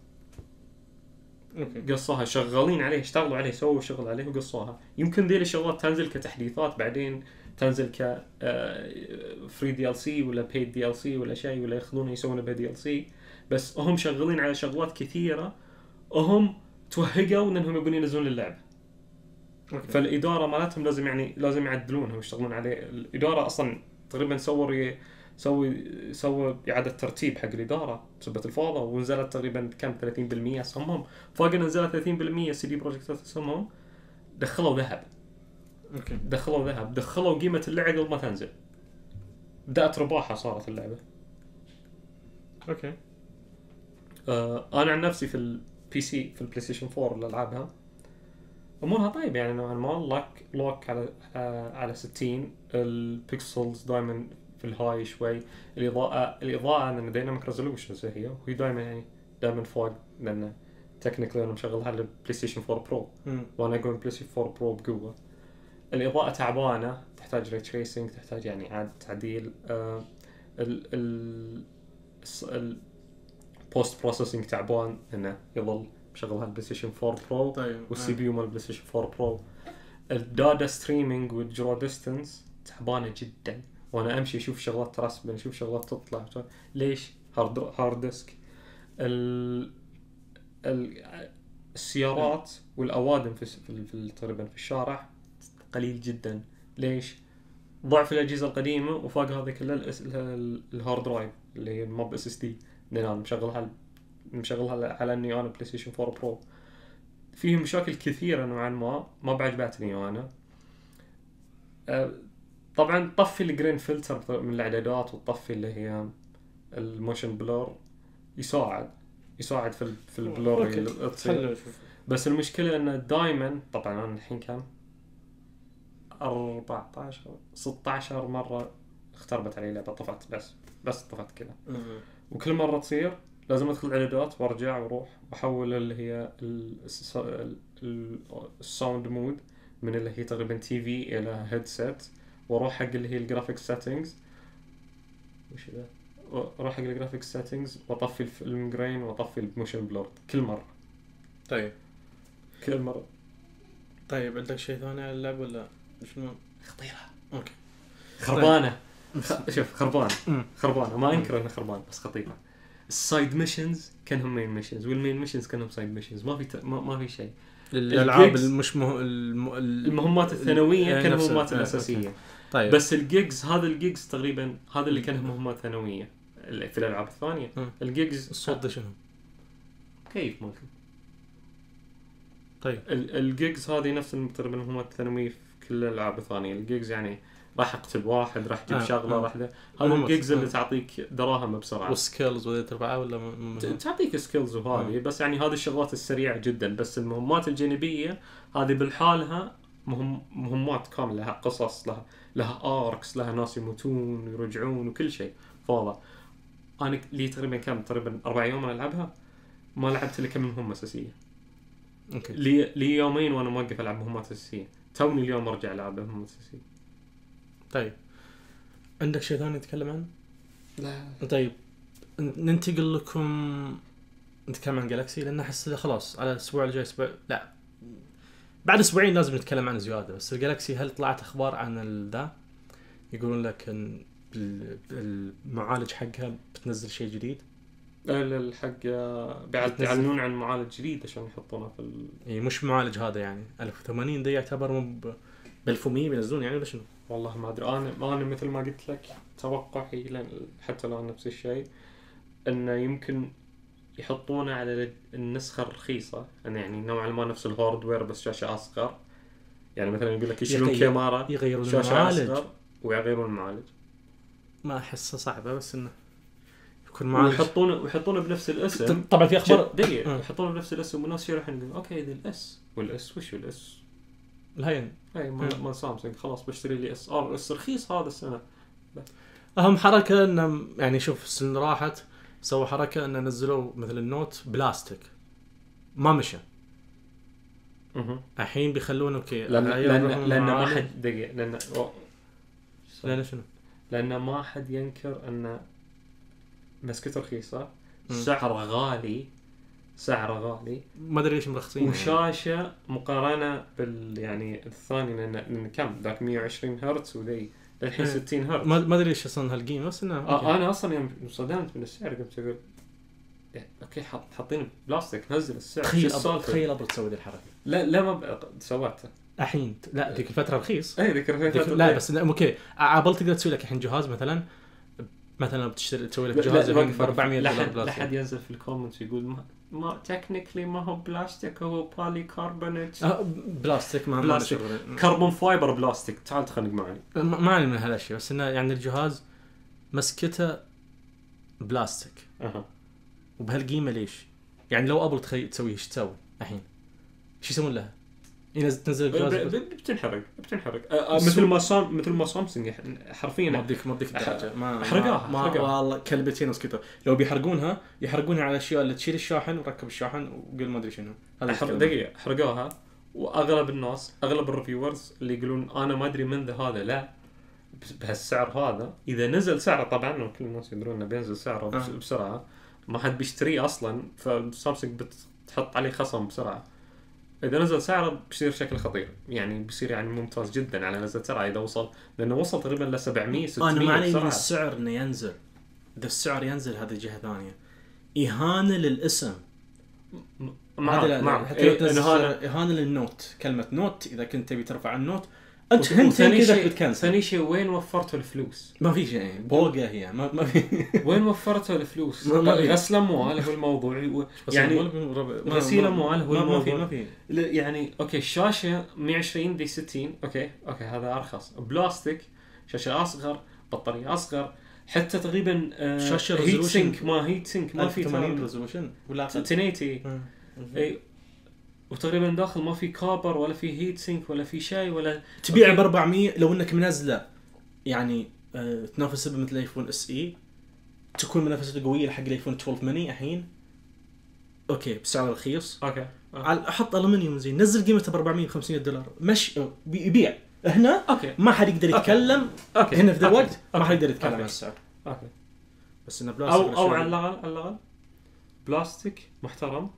قصوها، شغالين عليه، اشتغلوا عليه، سووا شغل عليه وقصوها. يمكن ذي الشغلات تنزل كتحديثات بعدين، تنزل ك فري دي ال سي ولا بيد دي ال سي ولا شيء، ولا ياخذونه يسوونه بدي ال سي. بس هم شغالين على شغلات كثيرة، وهم توهقوا انهم يبون ينزلون اللعبة. فالإدارة مالتهم لازم يعدلونها ويشتغلون عليه. الإدارة أصلا تقريبا سووا إعادة ترتيب حق الإدارة بسبب الفوضى، ونزلت تقريبا كم 30% اسهمهم. فوق نزلت 30% سي دي بروجكت اسهمهم. دخلوا ذهب. دخلوا قيمة اللعبة قبل ما تنزل. بدأت رباحة صارت اللعبة. أنا عن نفسي في البي سي، في البلاي ستيشن 4 اللي ألعبها أمورها طيب يعني نوعا ما. لوك على 60. البيكسلز دائما في الهاي شوي. الإضاءة أن دايناميك ريزولوشنز هي، وهي دائما فوق، لأن تكنيكلي أنا مشغلها على البلاي ستيشن 4 برو، وأنا أقول البلاي ستيشن 4 برو بقوة. الإضاءة تعبانة، تحتاج ري تريسنج، تحتاج يعني إعادة تعديل. البوست بروسيسنج تعبان، إنه يظل مشغلها البلاي ستيشن 4 برو. والسي بي يو مال البلاي ستيشن 4 برو. الداتا ستريمينج والجرو ديستنس تعبانة جدا، وانا امشي اشوف شغلات ترسب، اشوف شغلات تطلع. ليش؟ هارد ديسك. السيارات والاوادم في تقريبا في الشارع قليل جدا. ليش؟ ضعف الاجهزه القديمه، وفوق هذا كله الهارد درايف اللي هي موب اس اس دي، لان انا مشغلها على اني انا بلاي ستيشن 4 برو. فيه مشاكل كثيره نوعا ما بعجبتني انا. طبعا طفي الجرين فلتر من الاعدادات، والطفي اللي هي الموشن بلور يساعد في البلور اللي تصير. بس المشكله انه دائما، طبعا انا الحين كم 16 مره اختربت علي لعبه، طفت بس طفت كذا. وكل مره تصير لازم ادخل اعدادات وارجع واروح واحول اللي هي الساوند مود من اللي هي تقريبا تي في الى هيدسيت، واروح حق اللي هي الجرافيك سيتنجز. وش ذا؟ اروح حق الجرافيك سيتنجز واطفي الفيلم جرين واطفي الموشن بلور كل مره. كل مره. طيب عندك شيء ثاني على اللعبه ولا شنو؟ خطيره. خربانه. شوف خربانه ما انكر انها خربانه، بس خطيره. السايد ميشنز كانهم مين ميشنز، والمين ميشنز كانهم سايد ميشنز. ما في شيء. الالعاب المهمات الثانويه كانوا مهمات الاساسيه. طيب. بس الجيجز، هذا الجيجز تقريبا هذا اللي كانهم مهمات ثانويه في الالعاب الثانيه. الجيجز الصوت ده شنو؟ كيف ممكن؟ طيب الجيجز هذه نفس تقريبا مهمات ثانويه في كل الالعاب الثانيه. الجيجز يعني راح اقتل واحد، راح اجيب شغله، راح هذا الجيجز اللي تعطيك دراهم بسرعه، وسكيلز ولا تربعه ولا تعطيك سكيلز وهذه. بس يعني هذه الشغلات السريعه جدا. بس المهمات الجانبيه هذه بالحالها مهمات كامله، لها قصص، لها اركس، لها ناس يموتون ويرجعون وكل شيء فاضي. انا لي تقريبا 4 يوم انا العبها، ما لعبت الا كم مهمه اساسيه. لي يومين وانا موقف العب مهمات اساسيه. توني اليوم ارجع العب مهمات اساسيه. طيب عندك شيء ثاني نتكلم عنه؟ لا. طيب ننتقل لكم نتكلم عن جالاكسي، لأن أحس خلاص على الأسبوع الجاي لا بعد أسبوعين لازم نتكلم عن زيادة. بس الجالاكسي هل طلعت أخبار عن ذا؟ يقولون لك إن المعالج حقها بتنزل شيء جديد. الحق بيعلنون عن معالج جديد عشان يحطونه في مش معالج هذا يعني 1080 ده يعتبر ب 1100 بينزلون يعني ولا شنو؟ والله ما ادري. انا مثل ما قلت لك توقعي حتى لو نفس الشيء انه يمكن يحطونه على النسخه الرخيصه، يعني نوعا ما نفس الهاردوير بس شاشه اصغر. يعني مثلا يقول لك يشيلون كاميرا، يغيرون شاشه المعالج اصغر ويغيرون المعالج. ما احسه صعبه، بس انه يكون معالج ويحطونه بنفس الاسم. طبعا في اخبار يحطونه بنفس الاسم والناس يروحون يقولون اوكي ذا الاس والاس وش الاس الهين اي مال سامسونج خلاص بشتري لي اس ار اس رخيص هذا السنه. اهم حركه انه يعني شوف السنه اللي راحت سووا حركه ان نزلوا مثل النوت بلاستيك ما مشى. الحين بيخلونه اوكي لان ما حد دقيق لان شنو؟ لان ما حد ينكر ان مسكته رخيصه سعره غالي ما ادري ليش مرخصين وشاشه يعني. مقارنه يعني الثاني لان كم ذاك 120 هرتز وذي الحين 60 هرتز ما ادري ليش اصلا هالقيمه بس انه انا اصلا يوم صدمت من السعر قمت اقول اوكي حاطين بلاستيك نزل السعر. تخيل ابغى تسوي ذي الحركه. لا ما سويتها الحين لا ذيك الفتره رخيص. اي ذيك الفتره لا بس اوكي عبال تقدر تسوي لك الحين جهاز مثلا بتشتري تسوي لك جهاز ب $400 بلاستيك. لا حد ينزل في الكومنتس يقول ما تكنيكلي ما هو بلاستيك هو بولي كاربونات بلاستيك ما بلاستيك كربون فايبر بلاستيك. تعال تخنق معي ما علي من هالاشياء بس انه يعني الجهاز مسكته بلاستيك وبهالقيمه ليش يعني لو ابل تسوي ايش تسوي الحين ايش يسوون لها تنزل الجهاز بتنحرق مثل ما سامسونج حرفيا ما اديك الدرجه ما حرقها والله كلبتين وسكتوا لو بيحرقونها يحرقونها على الاشياء اللي تشيل الشاحن وركب الشاحن وقل ما ادري شنو هذا دقيقه حرقوها. واغلب الناس اغلب الريفيورز اللي يقولون انا ما ادري من هذا لا بهالسعر هذا اذا نزل سعره طبعا كل الناس يدرون انه بينزل سعره بسرعه ما حد بيشتريه اصلا فسامسونج بتحط عليه خصم بسرعه. إذا نزل سعره بيصير شكل خطير يعني بيصير يعني ممتاز جدا على نزل سعره إذا وصل لأنه وصل تقريبا ل 700 600. أنا معني من السعر إنه ينزل إذا السعر ينزل هذه جهة ثانية إهانة للاسم إهانة للنوت كلمة نوت إذا كنت تبي ترفع النوت أنت ثاني شيء وين وفرتوا الفلوس؟ ما في شيء بوقة هي ما في وين وفرتوا الفلوس؟ غسل أموال هو الموضوع يعني غسيل أموال هو الموضوع ما في يعني أوكي الشاشة 120 دي 60 أوكي هذا أرخص بلاستيك شاشة أصغر بطارية أصغر حتى تقريبا شاشة هيت سينك ما في 80 ريزولوشن ولا 1080 أي وتقريبا داخل ما في كابر ولا في هيت سينك ولا في شيء ولا تبيع ب 400 لو انك منزله يعني تنافس مثل الايفون اس اي تكون منافسته قويه حق الايفون 12 ميني الحين اوكي بسعر رخيص احط الومنيوم زين نزل قيمته ب $400-500 مش يبيع هنا ما حد يقدر يتكلم هنا في ذا الوقت ما حد يقدر يتكلم عن السعر بس انه بلاستيك او على الاقل بلاستيك محترم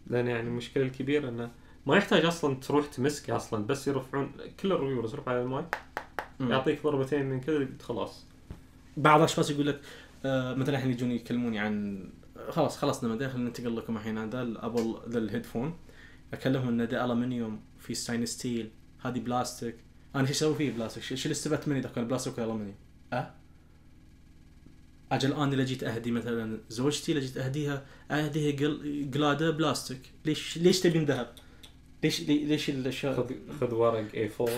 لأن يعني المشكلة الكبيرة إنه ما يحتاج أصلاً تروح تمسكه أصلاً بس يرفعون كل الريفيورز يرفع على الماي يعطيك ضربتين من كذا خلاص. بعض الأشخاص يقول لك مثلاً الحين يجون يكلموني عن خلصنا مداخل ننتقل لكم الحين هذا الأبل ذا الهيدفون أكلمهم إنه ده ألمنيوم في ستاين ستيل هذه بلاستيك أنا شو أسوي فيه بلاستيك شو اللي استفدت مني إذا كان بلاستيك ولا ألمنيوم أجل أنا اللي جيت أهدي مثلا زوجتي اللي جيت أهديها قلادة بلاستيك ليش تبين ذهب ليش الأشياء خذ ورق A4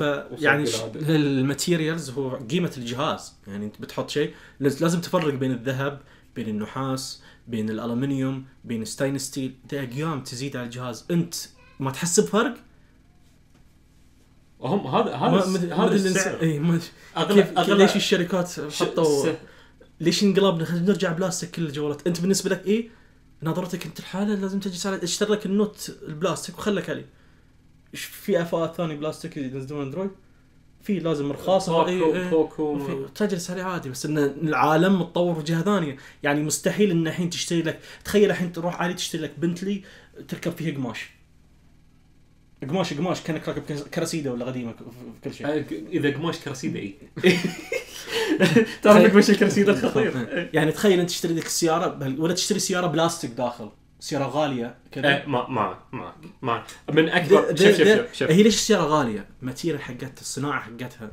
يعني الماتيريالز هو قيمة الجهاز يعني أنت بتحط شيء لازم تفرق بين الذهب بين النحاس بين الألمنيوم بين ستاين ستيل ده أقيام تزيد على الجهاز أنت ما تحس بفرق هم هذا السعر ليش الشركات حطوا ليش انقلبنا نرجع بلاستيك كل الجوالات انت بالنسبه لك ايه نظرتك انت الحاله لازم تجي سالة اشتري لك النوت البلاستيك وخلك عليه ايش في افات ثاني بلاستيك ينزلون اندرويد في لازم رخاصه تجلس عليه عادي بس ان العالم متطور بجهه ثانيه يعني مستحيل ان الحين تشتري لك تخيل الحين تروح عادي تشتري لك بنتلي تركب فيه قماش كانك راكب كرسيده ولا قديمه في كل شيء اذا قماش كرسيده اي تعرف مش الكرسيده الخطير يعني تخيل انت تشتري لك السياره ولا تشتري سياره بلاستيك داخل سياره غاليه كذا ما من اكبر شوف هي ليش السياره غاليه ماتيريال حقتها الصناعه حقتها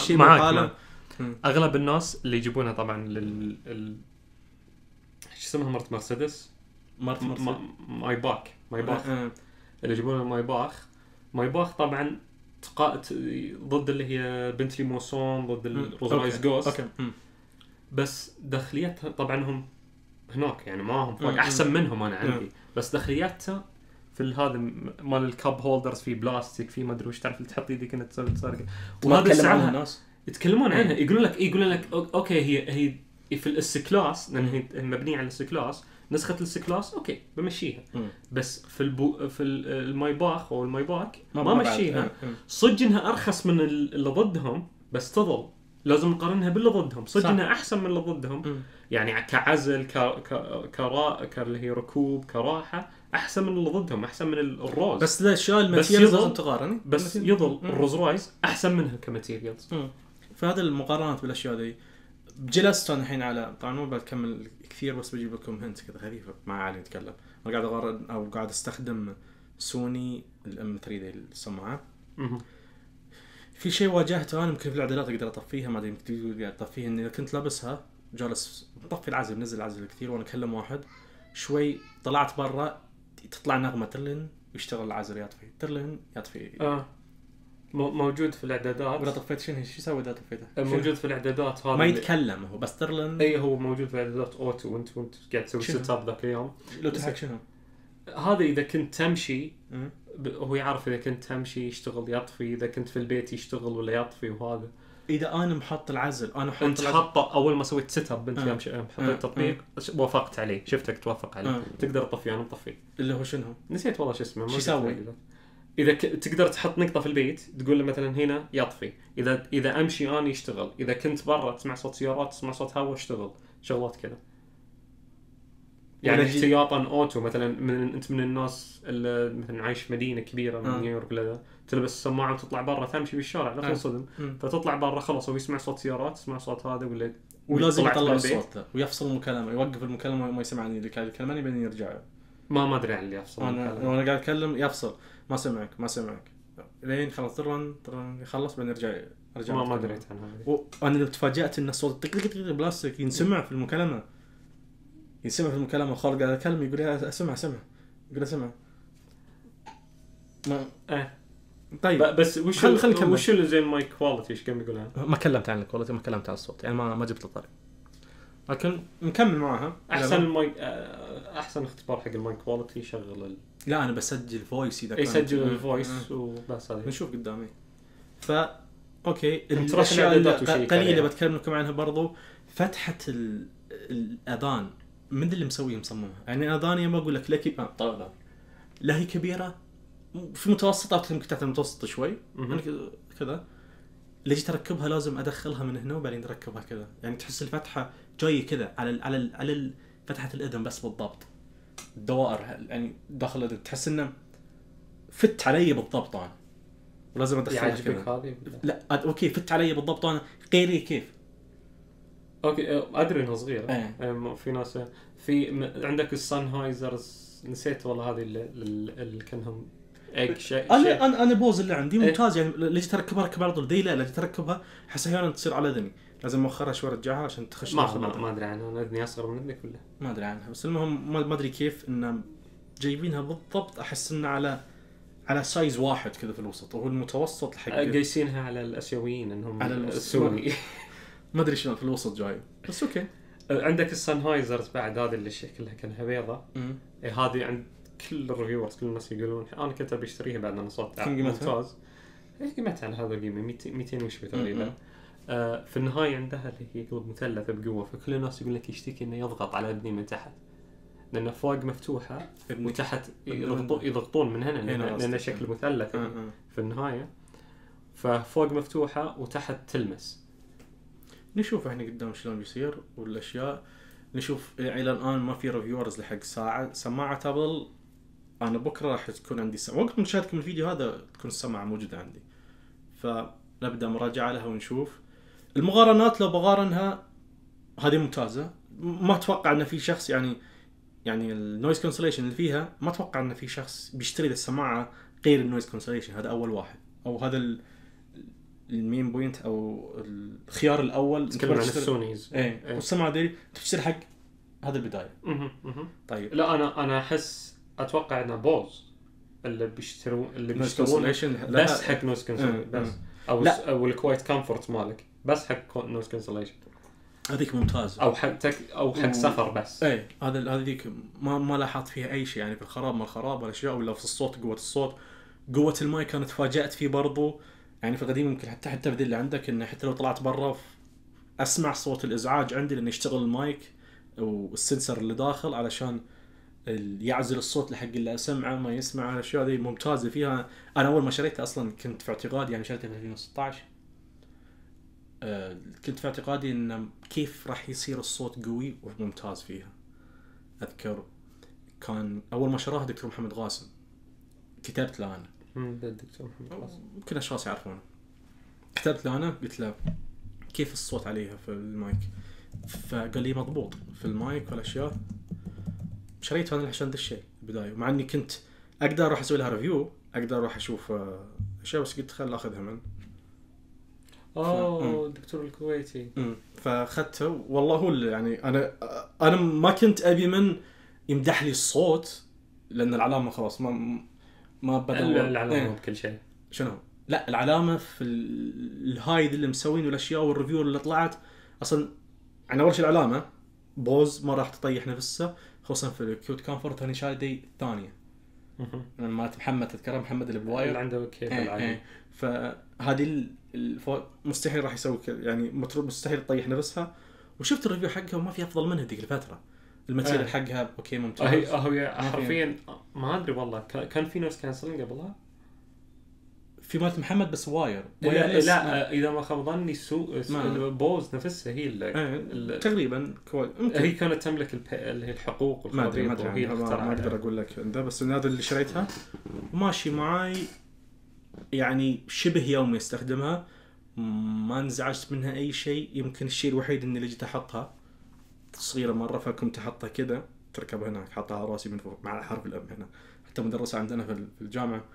معاك اغلب الناس اللي يجيبونها طبعا ايش اسمها مرسيدس ماي باك اللي يجيبونها ماي باخ طبعا ضد اللي هي بنتلي موسون ضد الروز رايس جوست بس داخليتها طبعا هم هناك يعني معهم فرق احسن منهم انا عندي بس داخلياتها في هذا مال الكاب هولدرز في بلاستيك في ما ادري وش تعرف اللي تحط يدك انت تسوي سرقه وهذا سعرها الناس يتكلمون عنها يقولون لك اوكي هي في الاس كلاس لان هي مبنيه على الاس كلاس نسخه الاس كلاس اوكي بمشيها بس في الماي باخ او الماي باك ما مشيها صدق انها ارخص من اللي ضدهم بس تظل لازم نقارنها باللي ضدهم صدق انها احسن من اللي ضدهم يعني كعزل اللي هي ركوب كراحه احسن من اللي ضدهم احسن من الروز بس الاشياء الماتيريالز لازم تقارن بس يظل الروز رايز احسن منها كماتيريالز فهذا المقارنات بالاشياء دي جلست انا الحين على طبعا مو بكمل كثير بس بجيب لكم هنت كذا خفيفه مع علي نتكلم انا قاعد اقارن او قاعد استخدم سوني الام 3 دي السماعه في شيء واجهته انا يمكن في الاعدادات اقدر اطفيها ما ادري يمكن قاعد اطفيها اني كنت لابسها جالس مطفي العزل منزل العزل كثير وانا اكلم واحد شوي طلعت برا تطلع نغمه ترلن يشتغل العزل يطفي ترلن يطفي موجود في الاعدادات ولا طفيت شو يسوي اذا طفيته موجود في الاعدادات هذا ما يتكلم هو بس ترلن اي هو موجود في الاعدادات اوتو وانت قاعد تسوي سيت اب ذاك اليوم لو تحك شنو هذا اذا كنت تمشي هو يعرف اذا كنت تمشي يشتغل يطفي اذا كنت في البيت يشتغل ولا يطفي وهذا اذا انا محط العزل انا حاطه اول ما سويت سيت اب انت يوم حطيت التطبيق وافقت عليه شفتك توافق عليه تقدر تطفيه انا مطفيه اللي هو شنو نسيت والله شو اسمه شو يسوي اذا تقدر تحط نقطه في البيت تقول له مثلا هنا يطفي اذا امشي انا يشتغل اذا كنت برا تسمع صوت سيارات تسمع صوت هواء اشتغل شغلات كذا يعني احتياطا اوتو مثلا انت من الناس اللي مثلا عايش في مدينه كبيره من نيويورك ولا تلبس السماعه وتطلع برا تمشي بالشارع لا تنصدم فتطلع برا خلاص هو يسمع صوت سيارات يسمع صوت هذا ولا ولازم يطلع الصوت ويفصل المكالمه يوقف المكالمه وما يسمعني اللي كان يكلمني بعدين يرجع ما ادري عن اللي يفصل انا قاعد اتكلم يفصل ما سمعك لين خلاص ترن يخلص بعدين ارجع ما دريت عنها وانا تفاجأت ان الصوت طق بلاستيك ينسمع في المكالمه خالد قاعد اتكلم يقول لي اسمع يقول اسمع ما طيب بس وش اللي زي المايك كواليتي ايش كان يقولها ما كلمت عن الكواليتي ما كلمت عن الصوت يعني ما جبت الطريق لكن نكمل معها احسن المايك احسن اختبار حق المايك كواليتي يشغل لا انا بسجل فويس اذا يسجل الفويس وبس هذا نشوف قدامي اوكي الاشياء القليله اللي بتكلم لكم عنها برضو فتحه الاذان من اللي مسويه مصممها يعني اذاني ما اقول لك لكي طبعا لا هي كبيره في متوسطه يمكن تحت المتوسط شوي يعني كذا اللي جيت اركبها لازم ادخلها من هنا وبعدين اركبها كذا يعني تحس الفتحه جايه كذا على فتحه الاذن بس بالضبط الدوائر يعني داخل الاذن تحس انه فت علي بالضبط انا ولازم ادخلها كذا لا اوكي فت علي بالضبط انا غيري كيف اوكي ادري انه صغير في ناس في عندك السانهايزرز نسيت والله هذه اللي كانهم شيء انا بوز اللي عندي ممتاز يعني اللي تركبها ركب على طول ذي لا اللي تركبها احس احيانا تصير على اذني لازم مؤخرها شوي ارجعها عشان تخش ما ادري عنها انا اذني اصغر من اذنك ولا ما ادري عنها بس المهم ما ادري كيف ان جايبينها بالضبط احس انه على سايز واحد كذا في الوسط وهو المتوسط الحق قايسينها على الاسيويين انهم على السوني ما ادري شلون في الوسط جاي بس اوكي عندك السانهايزرز بعد هذه اللي شكلها كانها بيضة هذه عند كل الريفيورز كل الناس يقولون انا كنت بشتريها بعد انا صوت ممتاز قيمتها على هذا القيمه 200 وشوي تقريبا في النهايه عندها اللي هي قلب مثلث بقوه فكل الناس يقول لك يشتكي انه يضغط على ابني من تحت لان فوق مفتوحه وتحت يضغطون من هنا لان شكل مثلث في النهايه ففوق مفتوحه وتحت تلمس نشوف احنا قدام شلون بيصير والاشياء نشوف الى الان ما في ريفيورز لحق سماعه ابل انا بكره راح تكون عندي وقت مشاهدتكم الفيديو هذا تكون السماعه موجوده عندي فنبدا مراجعه لها ونشوف المقارنات لو بقارنها هذه ممتازه ما اتوقع ان في شخص يعني النويز كانسليشن اللي فيها ما اتوقع ان في شخص بيشتري السماعه غير النويز كانسليشن هذا اول واحد او هذا المين بوينت او الخيار الاول نتكلم عن السونيز والسماعه دي تشتري حق هذا البدايه طيب لا انا احس اتوقع ان بوز اللي بيشترون بس حق نويز كانسليشن بس او الكوايت كومفورت مالك بس حق نويز كانسليشن هذيك ممتاز، او حق سفر بس. اي هذيك ما لاحظت فيها اي شيء يعني في الخراب ما الخراب ولا شيء، ولا في الصوت قوه الصوت قوه المايك كانت تفاجأت فيه برضو. يعني في القديم يمكن حتى بدل اللي عندك انه حتى لو طلعت برا اسمع صوت الازعاج عندي لانه يشتغل المايك والسنسر اللي داخل علشان يعزل الصوت لحق اللي اسمعه ما يسمع. الاشياء هذه ممتازه فيها. انا اول ما شريتها اصلا كنت في اعتقادي، يعني شريتها في 2016 كنت في اعتقادي ان كيف راح يصير الصوت قوي وممتاز فيها. اذكر كان اول ما شراها دكتور محمد غاسم، كتبت له انا الدكتور محمد غاسم يمكن اشخاص يعرفونه، كتبت له انا قلت له كيف الصوت عليها في المايك، فقال لي مضبوط في المايك والاشياء. شريتها انا عشان ذا الشيء البدايه، مع اني كنت اقدر اروح اسوي لها ريفيو، اقدر اروح اشوف اشياء، بس قلت خل اخذها من الدكتور الكويتي. فاخذته والله هو يعني انا ما كنت ابي من يمدح لي الصوت لان العلامه خلاص ما بدور العلامه بكل شيء. شنو؟ لا العلامه في الهاي اللي مسوين والاشياء والريفيو اللي طلعت اصلا. يعني اول شيء العلامه بوز ما راح تطيح نفسها، خصوصا في الكيوت كامفورت. ثاني شايدي ثانيه مالت محمد، تذكرها محمد اللي بواير اللي عنده كيبل عادي. فهذه مستحيل راح يسوي يعني مستحيل تطيح نفسها. وشفت الريفيو حقها وما في افضل منها ذيك الفتره. الماتيريال حقها اوكي ممتاز. هي حرفيا ما ادري والله كان في ناس كانسلين قبلها في مالت محمد بس واير. لا اذا ما خاب ظني بوز نفسها هي اللي تقريبا هي كانت تملك اللي هي الحقوق والخرابيط، ما اقدر اقول لك ده، بس هذا اللي شريتها وماشي معاي يعني شبه يومي استخدمها، ما انزعجت منها اي شيء. يمكن الشيء الوحيد اني اللي جيت احطها صغيره مره، فكنت احطها كذا تركب هناك، حطها على راسي من فوق مع حرف الام هنا. حتى مدرسه عندنا في الجامعه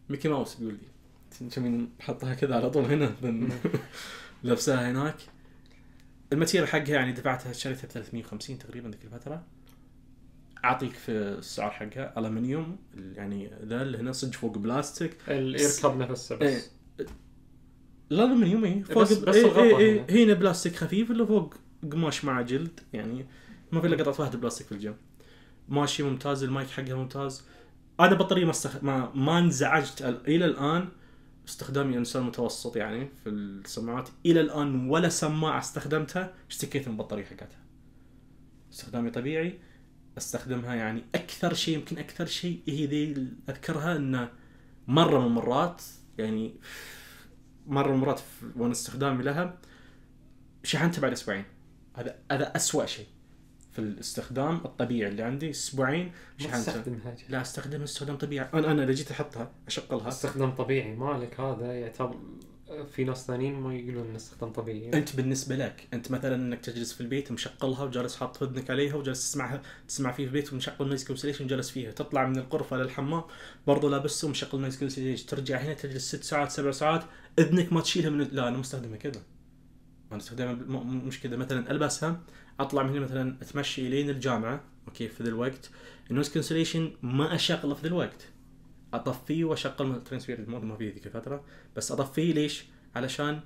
ميكي ماوس يقول لي تمين حطها كذا على طول هنا لبسها هناك. الماتيريال حقها يعني دفعتها، شريتها ب 350 تقريبا ذيك الفتره. اعطيك في السعر حقها الومنيوم، يعني ذا اللي هنا صج فوق بلاستيك يركب نفسه بس الالومنيوم فوق بس هنا بلاستيك خفيف اللي فوق قماش مع جلد، يعني ما في الا قطعه واحده بلاستيك في الجنب. ماشي ممتاز. المايك حقها ممتاز. انا بطاريه ما انزعجت الى الان. استخدامي انسان متوسط يعني في السماعات الى الان، ولا سماعه استخدمتها اشتكيت من البطاريه حقتها. استخدامي طبيعي استخدمها. يعني اكثر شيء يمكن اكثر شيء هي ذي اذكرها انه مره من المرات، يعني مره من المرات وانا استخدامي لها شحنتها بعد اسبوعين. هذا اسوأ شيء في الاستخدام الطبيعي اللي عندي. اسبوعين شحنتها. لا استخدمها استخدام طبيعي. انا اذا جيت احطها اشغلها استخدام طبيعي مالك، هذا يعتبر في ناس ثانيين ما يقولون ان استخدام طبيعي. انت بالنسبه لك انت مثلا انك تجلس في البيت مشغلها وجالس حاط ودنك عليها وجالس تسمع فيه في البيت ومشغل نويز كانسليشن وجالس فيها، تطلع من الغرفه للحمام برضو لابسه ومشغل نويز كانسليشن، ترجع هنا تجلس 6 ساعات 7 ساعات اذنك ما تشيلها من لا انا مستخدمها كذا. انا استخدامها مش كذا. مثلا البسها اطلع من هنا مثلا اتمشي الين الجامعه اوكي في ذا الوقت النويز كانسليشن ما اشغله في ذا الوقت، اطفيه واشغل ترانسفير مود ما في ذيك الفتره، بس اطفيه ليش؟ علشان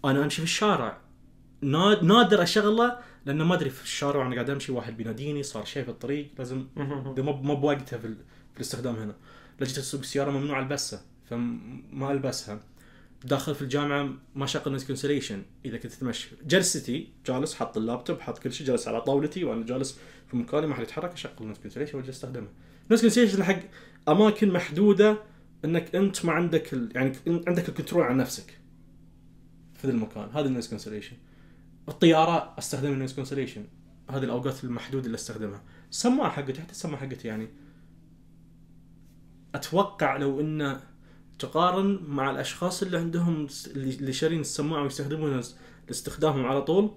انا امشي في الشارع نادر اشغله، لانه ما ادري في الشارع وانا قاعد امشي واحد بيناديني صار شيء في الطريق لازم ما بوقتها في الاستخدام. هنا لجيت اسوق السياره ممنوع البسها فما البسها. داخل في الجامعه ما شغل نويز كانسليشن. اذا كنت اتمشى جلستي جالس حط اللابتوب حط كل شيء جالس على طاولتي وانا جالس في مكاني ما حد يتحرك اشغل نويز كانسليشن واجي استخدمه. نويز كانسليشن حق اماكن محدوده انك انت ما عندك يعني عندك الكنترول على نفسك في ذا المكان. هذا النويز كانسليشن. الطياره استخدم النويز كانسليشن، هذه الاوقات المحدوده اللي استخدمها. السماعه حقتي حتى السماعه حقتي يعني اتوقع لو ان تقارن مع الاشخاص اللي عندهم اللي شارين السماعه ويستخدمونها لاستخدامهم على طول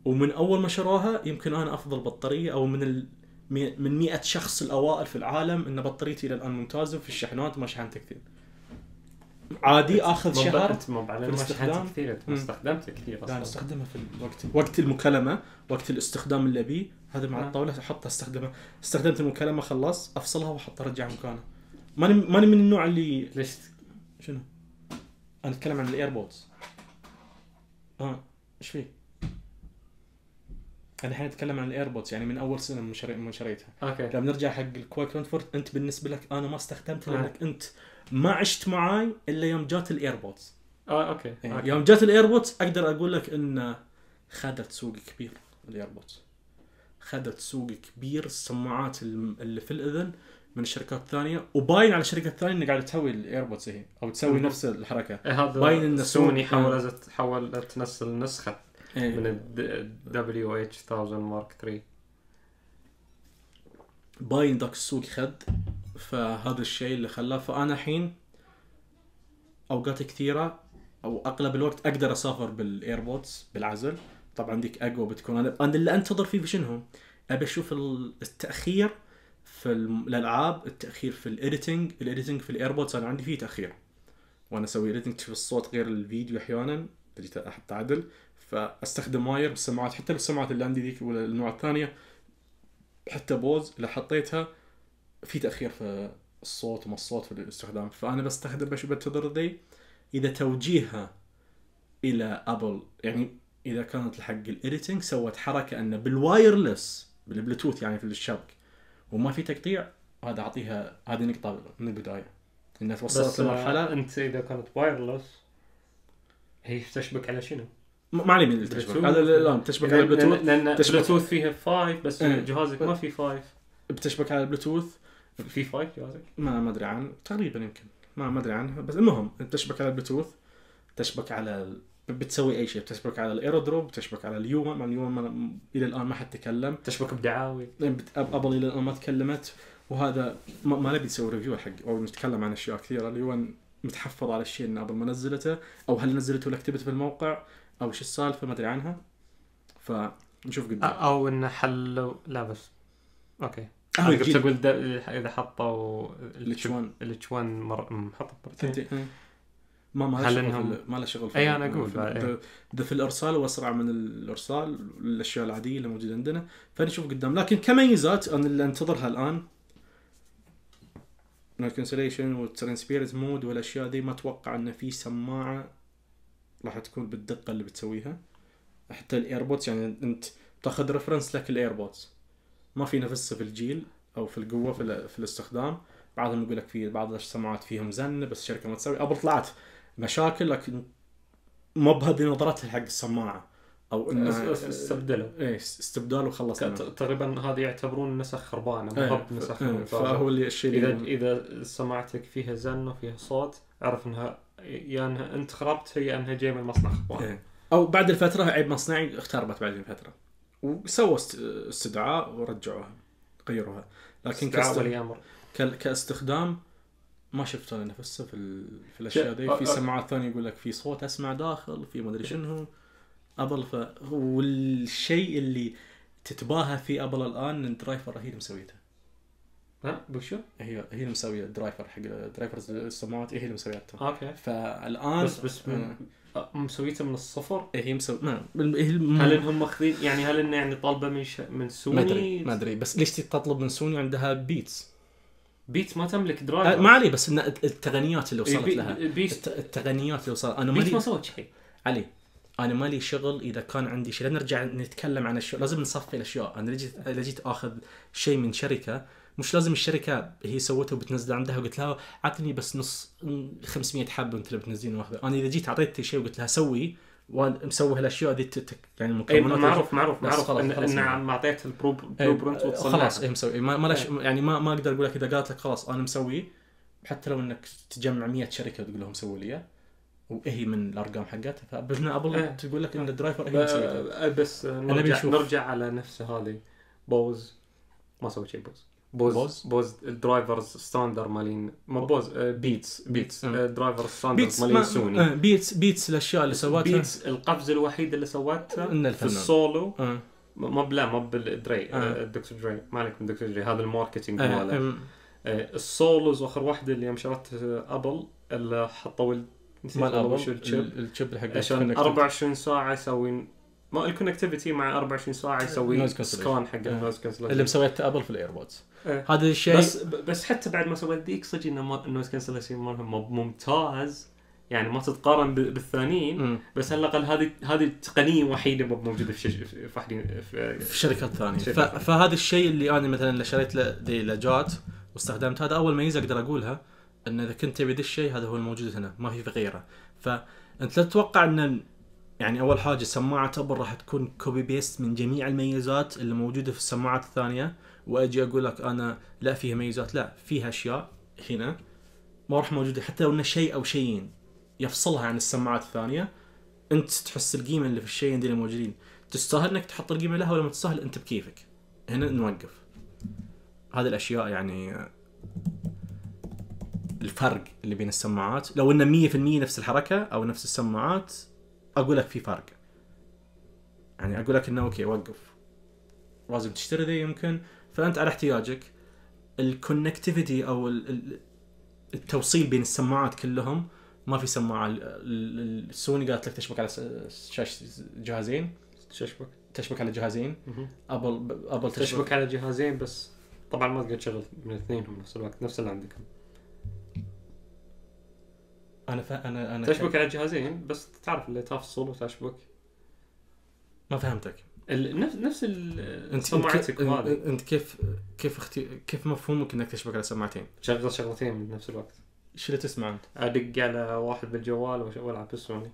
ومن اول ما شروها، يمكن انا افضل بطاريه او من 100 شخص الاوائل في العالم ان بطاريتي الى الان ممتازه في الشحنات. ما شحنت كثير عادي اخذ شهر. انت مو بعد ما شحنت كثير استخدمته كثير اصلا. لا استخدمها في وقت المكالمه وقت الاستخدام اللي ابي هذا مع الطاوله احطها استخدمها. استخدمت المكالمه خلص افصلها واحطها ارجع مكانها. ماني من النوع اللي ليش شنو انا اتكلم عن الايربودز. ايش فيه الحين نتكلم عن الايربودز يعني من اول سنه من شريتها. اوكي. لما نرجع حق الكوايك رانفورد، انت بالنسبه لك انا ما استخدمتها لانك انت ما عشت معاي الا يوم جات الايربودز. اوكي. يوم جات الايربودز اقدر اقول لك ان خدت سوق كبير. الايربودز خدت سوق كبير. السماعات اللي في الاذن من الشركات الثانيه، وباين على الشركات الثانيه انها قاعده تسوي الايربودز هي او تسوي نفس الحركه. باين ان سوني حاولت تنزل نسخه من ال WH-1000 مارك 3. باين ذاك السوق خد، فهذا الشيء اللي خلاه. فانا الحين اوقات كثيره او اغلب الوقت اقدر اسافر بالايربودز بالعزل. طبعا ديك اقوى بتكون. انا اللي انتظر فيه شنو؟ ابي اشوف التاخير في الالعاب، التاخير في الايديتنج في الايربودز. انا عندي فيه تاخير وانا اسوي ايديتنج في الصوت غير الفيديو احيانا تجي احط عدل، فاستخدم واير بالسماعات. حتى بالسماعات اللي عندي ذيك ولا النوع الثانيه حتى بوز اللي حطيتها في تاخير في الصوت وما الصوت في الاستخدام. فانا بستخدم باش بنتظر ذي اذا توجيهها الى ابل، يعني اذا كانت الحق الايديتنج سوت حركه انه بالوايرلس بالبلوتوث يعني في الشبك وما في تقطيع، هذا اعطيها هذه نقطه من البدايه انها توصلت لمرحله. انت اذا كانت وايرلس هي تشبك على شنو؟ ما علي من التشبك هذا. لا تشبك على البلوتوث، لان البلوتوث فيها 5 بس جهازك ما في 5. بتشبك على البلوتوث في 5 جهازك ما ادري عنه تقريبا، يمكن ما ادري عنه، بس المهم تشبك على البلوتوث، تشبك على بتسوي اي شيء، بتشبك على الايرودروب، بتشبك على اليوم. اليوم الى الان ما حد تكلم، تشبك بدعاوي. ابل الى الان ما تكلمت. وهذا ما نبي نسوي ريفيو حق او نتكلم عن اشياء كثيره. اللي هو متحفظ على الشيء ان ابل ما نزلته، او هل نزلته ولا كتبت في الموقع او ايش السالفه ما ادري عنها. فنشوف قدام او ان حلوا لا بس اوكي. انا كنت اقول اذا حطوا الاتش1 محطه مرتين ما له شغل اي انا اقول ده في الارسال واسرع من الارسال الاشياء العاديه اللي موجوده عندنا. فنشوف قدام. لكن كميزات انا اللي انتظرها الان الكونسليشن والترانسبيرنت مود والاشياء دي، ما اتوقع ان في سماعه راح تكون بالدقه اللي بتسويها. حتى الايربودز يعني انت تاخذ ريفرنس لك الايربودز ما في نفسه في الجيل او في القوه في الاستخدام. بعضهم يقول لك في بعض السماعات فيهم زن بس الشركه ما تسوي. ابل طلعت مشاكل لكن ما بهذه نظرتها حق السماعه او انه استبدال وخلص. تقريبا هذه يعتبرون نسخ خربانه مو نسخ. فهو اللي الشيء اذا سماعتك فيها زن وفيها صوت اعرف انها يا انها انت خربت هي انها جايه من مصنع خربان. او بعد الفتره عيب مصنعي اختربت بعد الفتره وسووا استدعاء ورجعوها غيروها. لكن كاستخدام ما شفت انا نفسه في الاشياء دي. في سماعات ثانيه يقول لك في صوت اسمع داخل في ما ادري شنو ابل. والشيء اللي تتباهى في ابل الان الدرايفر هي اللي مسويته. بشو هي اللي مسويه الدرايفر حق درايفرز السماعات هي اللي مسويته. اوكي. فالان بس مسويته من الصفر. هي مسوي هل انهم ماخذين يعني هل انه يعني طالبه من سوني؟ ما ادري بس ليش تطلب من سوني عندها بيتس ما تملك درايفر. ما علي بس ان التقنيات اللي وصلت لها التقنيات اللي وصلت. انا ما سويت شيء علي. انا مالي شغل اذا كان عندي شيء. نرجع نتكلم عن الاشياء لازم نصفي الاشياء. انا جيت اخذ شيء من شركه مش لازم الشركه هي سوته وبتنزله عندها وقلت لها عطني بس نص 500 حبه وانت اللي بتنزلين واحده. انا اذا جيت اعطيتك شيء وقلت لها سوي ومسوي هالاشياء دي يعني المكونات معروف ان ما اعطيت البرو برنت وتصنع خلاص مسوي ما يعني ما اقدر اقول لك اذا قالت لك خلاص انا مسوي حتى لو انك تجمع 100 شركه وتقول لهم سووا لي وهي من الارقام حقتها. فبدنا ابل تقول لك ان الدرايفر هي مسويته. بس نرجع على نفس هذه بوز ما سوى شيء. بوز الدرايفرز ستاندر مالين ما بوز بيتس درايفر ستاندر مالين سوني. بيتس الاشياء اللي سوتها بيتس القفزه الوحيده اللي سوتها في السولو ما بالدري الدكتور دري ما عليك من دكتور دري. هذا الماركتينج ماله السولوز واخر واحده اللي يوم شرت ابل اللي حطوا الشيب حق عشان 24 ساعه يسوي ما الكونكتيفيتي مع 24 ساعه يسوي سكان حق النويز كانسليشن اللي مسويته ابل في الايربودز. هذا الشيء بس حتى بعد ما سويت ذيك صدق انه النويز كانسليشن مالهم ممتاز يعني ما تتقارن بالثانيين بس على الأقل هذه التقنية وحيدة موجودة في شركات ثانية. فهذا الشيء اللي أنا مثلا اللي شريت لجات واستخدمت، هذا أول ميزة أقدر أقولها، إن إذا كنت تبي ذا الشيء هذا هو الموجود هنا، ما في غيره. فأنت لا تتوقع إن يعني أول حاجة سماعة أبل راح تكون كوبي بيست من جميع الميزات اللي موجودة في السماعات الثانية، وأجي أقول لك أنا لا فيها ميزات، لا فيها أشياء هنا ما راح موجودة، حتى لو إنه شيء أو شيئين يفصلها عن السماعات الثانية. أنت تحس القيمة اللي في الشيئين دي اللي موجودين، تستاهل إنك تحط القيمة لها ولا ما تستاهل، أنت بكيفك. هنا نوقف. هذه الأشياء يعني الفرق اللي بين السماعات، لو إنه 100% نفس الحركة أو نفس السماعات أقول لك في فرق، يعني أقول لك إنه أوكي وقف لازم تشتري ذي يمكن. فأنت على احتياجك. الكونكتيفيتي أو التوصيل بين السماعات كلهم، ما في سماعة السوني قالت لك تشبك على شاشة جهازين، تشبك على جهازين. أبل تشبك على جهازين بس طبعا ما تقدر تشغل من اثنينهم نفس الوقت نفس اللي عندكم. أنا تشبك على جهازين بس تعرف اللي تفصل وتشبك. ما فهمتك. نفس السماعات هذه. أنت كيف مفهومك إنك تشبك على سماعتين؟ شغل شغلتين من نفس الوقت. إيش اللي تسمع أنت؟ أدق على واحد بالجوال وألعب بالسوني.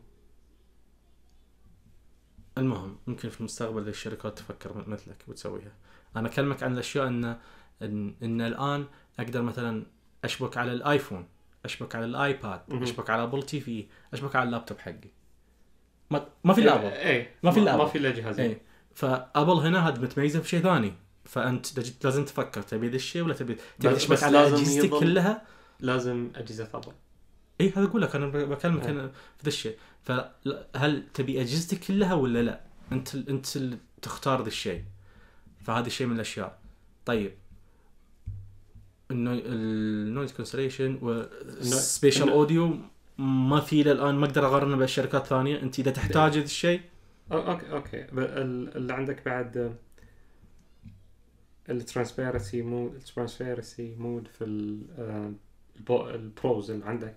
المهم ممكن في المستقبل الشركات تفكر مثلك وتسويها. أنا أكلمك عن الأشياء إن الآن أقدر مثلا أشبك على الآيفون، أشبك على الآيباد، أشبك على أبل تي في، أشبك على اللابتوب حقي. ما في الأبل. ما في إلا جهازين. فأبل هنا هاد متميزة في شيء ثاني. فأنت لازم تفكر تبي ذا الشيء ولا تبي تشبك على أجهزتك كلها. لازم أجهزة أبل. هذا أقول لك أنا بكلمك أنا في ذا الشيء. فهل تبي أجهزتك كلها ولا لا؟ أنت اللي تختار ذا الشيء. فهذا الشيء من الأشياء. طيب النويز كانسليشن والسبيشال أوديو ما في الآن، ما أقدر أقارنه بالشركات الثانية. أنت إذا تحتاج هذا الشيء أوكي. اللي عندك بعد الترانسبيرنسي مود في البروز اللي عندك.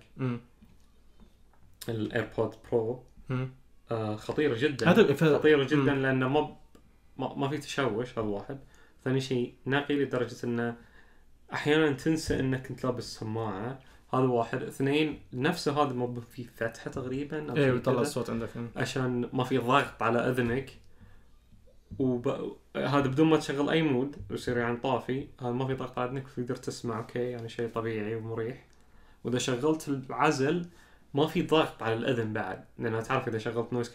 الايربود برو خطيرة جدا. خطيرة جدا لأنه ما في تشوش. هذا واحد. ثاني شيء نقي لدرجة أنه أحيانا تنسى أنك كنت لابس سماعة. هذا واحد. اثنين نفسه هذا ما في فتحة تقريبا يطلع الصوت عندك عشان ما في ضغط على أذنك. هذا بدون ما تشغل أي مود ويصير يعني طافي. هذا ما في ضغط على أذنك وتقدر تسمع أوكي يعني شيء طبيعي ومريح. وإذا شغلت العزل ما في ضغط على الأذن بعد، لأنه تعرف إذا شغلت نويز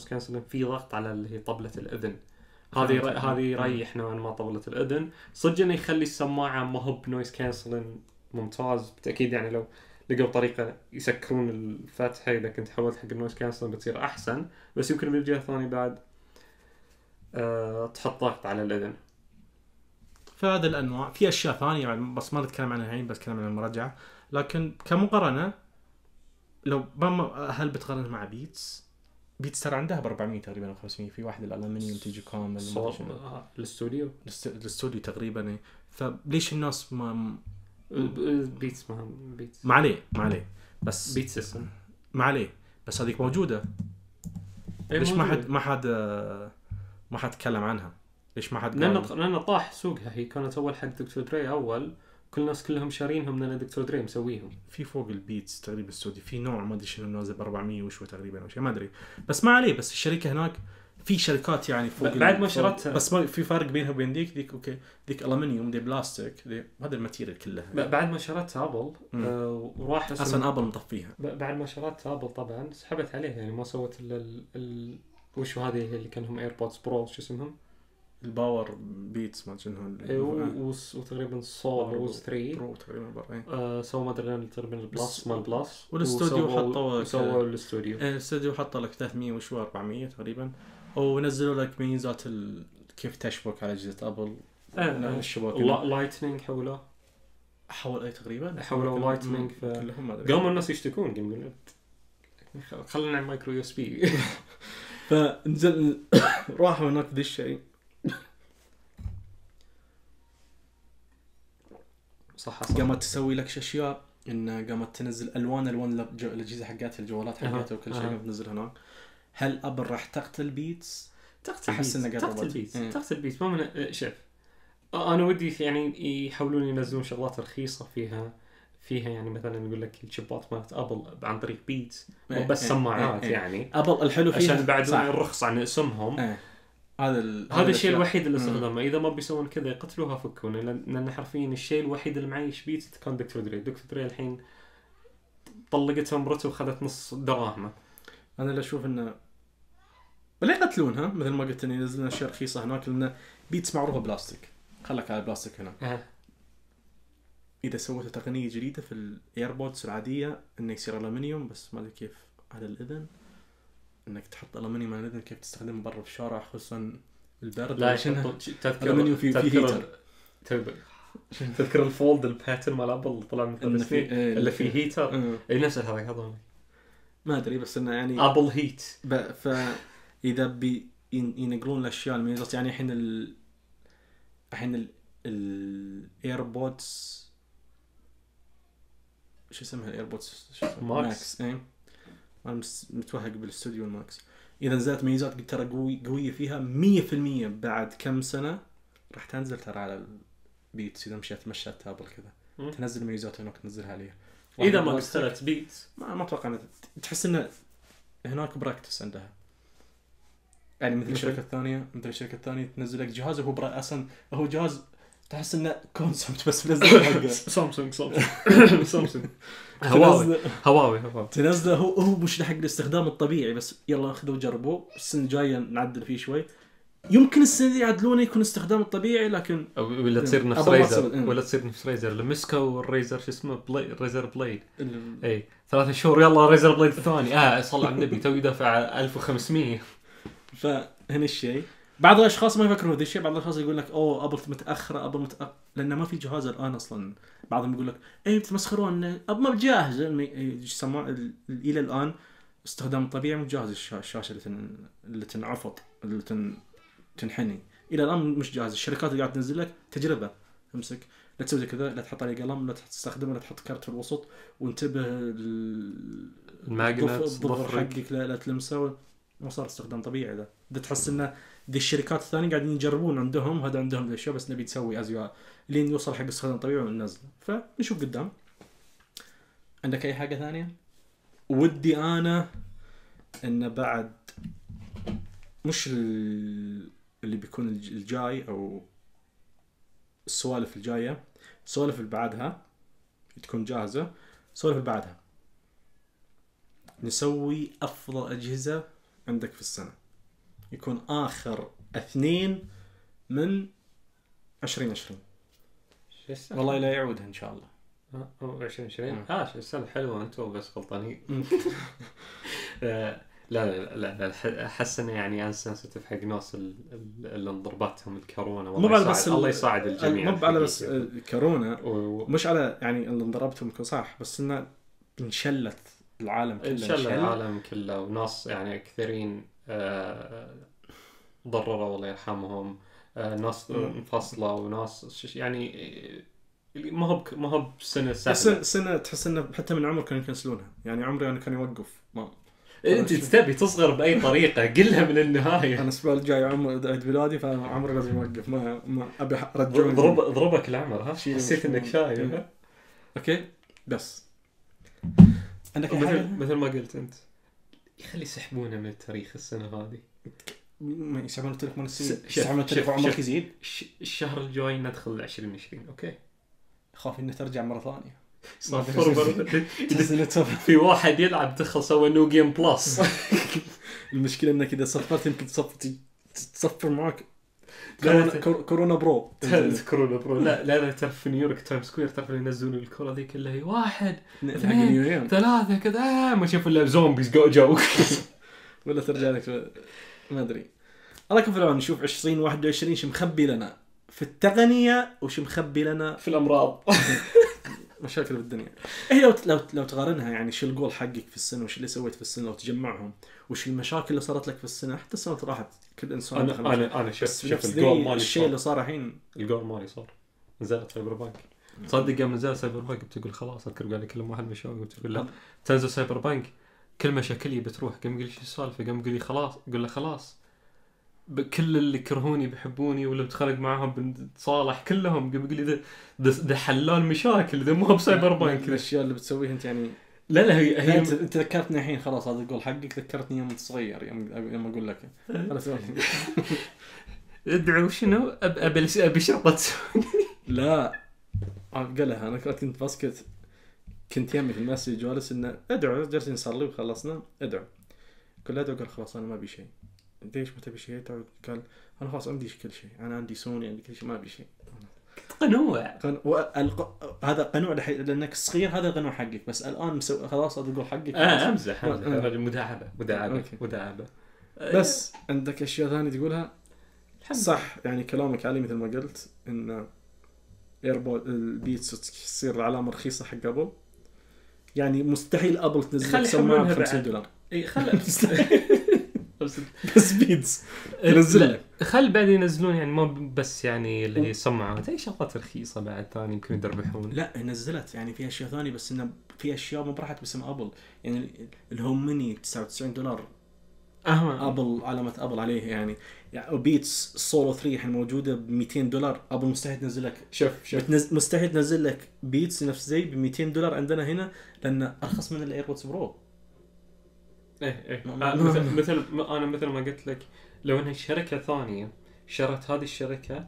كانسلين في ضغط على اللي هي طبلة الأذن. هذه يريح نوعا ما طبلة الأذن. صدق إنه يخلي السماعة ما هو بنويز كانسلين ممتاز بالتأكيد. يعني لو لقوا طريقة يسكرون الفتحة إذا كنت حولت حق النويز كانسلين بتصير أحسن. بس يمكن بالجهة الثانية بعد تحط ضغط على الأذن. فهذا الأنواع. في أشياء ثانية بس ما نتكلم عنها الحين، بس كلام عن المراجعة. لكن كمقارنة لو هل بتقارن مع بيتس ترى عندها ب400 تقريبا أو 500. في واحد الألمنيوم تيجي كامل الاستوديو تقريبا. فليش الناس ما بيتس ما عليه بس بيتس اسم ما عليه بس هذيك موجودة. ليش ما حد تكلم عنها؟ ليش ما حد لأن طاح سوقها. هي كانت أول حق دكتور دري أول. كل الناس كلهم شارينهم لأن دكتور دري مسويهم. في فوق البيتس تقريبا السعودي في نوع ما أدري شنو نازل ب400 وشو تقريبا أو شيء ما أدري. بس ما عليه. بس الشركة هناك في شركات يعني فوق بعد ما شرتها. بس ما في فرق بينها وبين ذيك أوكي. ذيك ألمنيوم دي بلاستيك هذا الماتيريال كلها. بعد ما شرتها أبل وراح أصلا أبل مطفيها. بعد ما شرتها أبل طبعا سحبت عليها. يعني ما سوت وشو هذه اللي كانهم ايربودز برو شو اسمهم الباور بيتس ما شنو وتقريبا سولوز 3 برو تقريبا سووا ما ادري تقريبا البلس مال بلس. والاستوديو سووا الاستوديو حطوا لك 300 وشو 400 تقريبا. ونزلوا لك ميزات كيف تشبك على أجهزة أبل. الشبكة لايتنينج حول تقريبا حولوا لايتنينج. قاموا الناس يشتكون يقولون خلينا نعمل مايكرو يو اس بي. فنزل راحوا هناك ذي الشيء صح قامت تسوي لك أشياء إن قامت تنزل ألوان الأجهزة حقاتها الجوالات حقاتها وكل شيء قامت تنزل هناك. هل أبل راح تقتل بيتس؟ تقتل بيتس ما من شوف أنا ودي يعني يحاولون ينزلون شغلات رخيصة فيها يعني مثلا يقول لك الشيبات مالت أبل عن طريق بيتس مو بس سماعات يعني أبل الحلو فيها عشان بعدون يرخص عن اسمهم. هذا الشيء الوحيد اللي استخدمه. إذا ما بيسوون كذا يقتلوها فكون لأن حرفيا الشيء الوحيد اللي معيش بيتس كان دكتور دري الحين طلقتها مرته وخذت نص دراهمه. أنا اللي أشوف إنه ولا يقتلونها مثل ما قلت إن ينزلون أشياء رخيصة هناك لأن بيتس معروفة بلاستيك خلك على البلاستيك هنا. إذا سويت تقنية جديدة في الإيربودز العادية إنه يصير ألمنيوم بس ما أدري كيف على الإذن إنك تحط ألمنيوم على الإذن كيف تستخدمه برا في الشارع خصوصا البرد. لا ألمنيوم في هيتر. تذكر الفولد الباترن مال أبل طلع من سنين اللي فيه هيتر أي نفس هذا هذا ما أدري بس إنه يعني أبل هيت. فإذا ينقلون الأشياء الميزات يعني الحين الإيربودز شو اسمها الإيربودز ماكس أنا متوهق بالاستوديو الماكس. إذا نزلت ميزات قلت ترى قوية فيها 100% بعد كم سنة راح تنزل ترى على البيتس. إذا مشيت تابل كذا تنزل ميزات هناك تنزلها عليها. إذا ما اشتريت بيتس ما أتوقع تحس إنه هناك براكتس عندها يعني مثل الشركة الثانية تنزل لك جهاز وهو أصلا هو جهاز تحس إنه كونسبت بس بنزل حقه سامسونج هواوي تنزله هو مش حق الاستخدام الطبيعي بس يلا خذوا جربوه السنة الجاية نعدل فيه شوي يمكن السنة دي يعدلونه يكون استخدام الطبيعي لكن ولا تصير نفس ريزر ولا تصير نفس ريزر اللي مسكوا الريزر شو اسمه ريزر بليد اي 3 شهور يلا ريزر بليد الثاني صلى على النبي تو يدفع 1500. فهنا الشيء بعض الاشخاص ما يفكروا هذا الشيء. بعض الاشخاص يقول لك ابل متاخره لانه ما في جهاز الان اصلا. بعضهم يقول لك بتمسخرون ابل ما بجاهز الى الان استخدام الطبيعي مو جاهز. الشاشه اللي تنعفط اللي تنحني الى الان مش جاهز. الشركات اللي قاعده تنزل لك تجربه امسك لا تسوي كذا لا تحط عليه قلم لا تستخدمه لا تحط كارت في الوسط وانتبه الماجنت الضفر حقك لا تلمسه ما صار استخدام طبيعي. ده تحس انه دي الشركات الثانيه قاعدين يجربون عندهم هذا عندهم الاشياء بس نبي تسوي ازياء لين يوصل حق استخدام طبيعي وننزل. فنشوف قدام. عندك اي حاجه ثانيه؟ ودي انا ان بعد مش اللي بيكون الجاي او السوالف الجايه السوالف اللي بعدها تكون جاهزه. السوالف اللي بعدها نسوي افضل اجهزه عندك في السنه يكون آخر 2 من 2020 والله لا يعودها إن شاء الله. 2020 شو السنة حلوة أنتوا بس غلطانين. لا أحس إنه يعني أنا سنسيتيف حق ناس اللي انضربتهم الكورونا الله يساعد الجميع. مو على بس كورونا مش على يعني اللي انضربتهم صح بس إنه انشلت العالم كله وناس يعني كثيرين ضرروا الله يرحمهم. ناس انفصلوا وناس يعني ما هو بسنة سنة تحس انه حتى من عمر كانوا يكنسلونها. يعني عمري انا كان يوقف ما انت تبي تصغر باي طريقه قلها من النهايه. انا الاسبوع الجاي عيد ميلادي فعمري لازم يوقف ما ابي ارجعه. ضربك العمر حسيت انك شايف اوكي بس عندك مثل ما قلت انت يخلي يسحبونه من التاريخ السنه هذه ما يسحبون التاريخ من السنين. يسحبون التاريخ وعمرك يزيد. الشهر الجاي ندخل 2020 اوكي خاف انه ترجع مره ثانيه. في واحد يلعب دخل سوى نو جيم بلس. المشكله انك اذا صفرت يمكن تصفر معك كورونا برو. لا تعرف في نيويورك تايم سكوير تعرف ينزلون الكره ذي كلها 1 2 3 كذا ما شوف الا زومبيز جو ولا ترجع لك ما ادري. الله يكون في العون. نشوف 2021 شو مخبي لنا في التقنيه وش مخبي لنا في الامراض مشاكل بالدنيا. هي لو تقارنها يعني شو الجول حقك في السنه وش اللي سويت في السنه لو تجمعهم وش المشاكل اللي صارت لك في السنه حتى السنه راحت كل انسان انا شفت الجول مالي الشيء اللي صار الحين الجول مالي صار نزلت في البربانك تصدق يوم نزل سايبر بانك بتقول خلاص اذكر قال لي كل واحد مشاوي بتقول لا تنزل سايبر بانك كل مشاكلي بتروح. قام يقول لي شو السالفه؟ قام يقول لي خلاص. قول له خلاص كل اللي كرهوني بيحبوني ولا بتخانق معاهم بنتصالح كلهم. قام يقول لي ده حلال مشاكل ده مو بسايبر بانك. الاشياء اللي بتسويها انت يعني لا هي انت ذكرتني الحين خلاص هذا القول حقك ذكرتني يوم صغير يوم اقول لك خلاص ادعوا شنو ابي شرطه لا قالها انا كنت باسكت كنت يمي في المسجد جالس انه ادعوا جالسين نصلي وخلصنا ادعوا كل ادعوا قال خلاص انا ما ابي شيء. ليش ما تبي شيء؟ قال انا خلاص عندي كل شيء انا عندي سوني عندي كل شيء ما ابي شيء. قنوع هذا قنوع لانك صغير هذا قنوع حقك بس الان خلاص هذا تقول حقك امزح رجل مداعبه بس عندك اشياء ثانيه تقولها صح يعني كلامك علي مثل ما قلت ان ايربود البيتس تصير العلامه رخيصه حق ابل يعني مستحيل ابل تنزل سماعه ب$50 اي خل بس بيتس نزل خل بعد ينزلون يعني ما بس يعني اللي هي سماعات اي شغلات رخيصه بعد ثاني يمكن يدربحون. لا نزلت يعني في اشياء ثانيه بس انه في اشياء ما راحت باسم ابل يعني الهوم ميني $99 ابل علامه ابل عليه يعني بيتس سولو 3 الحين موجوده ب$200 ابل مستحيل تنزل لك شوف مستحيل تنزل لك بيتس نفس زي ب$200 عندنا هنا لان ارخص من الايربودز برو. ايه مثل ما قلت لك لو انها شركه ثانيه شرت هذه الشركه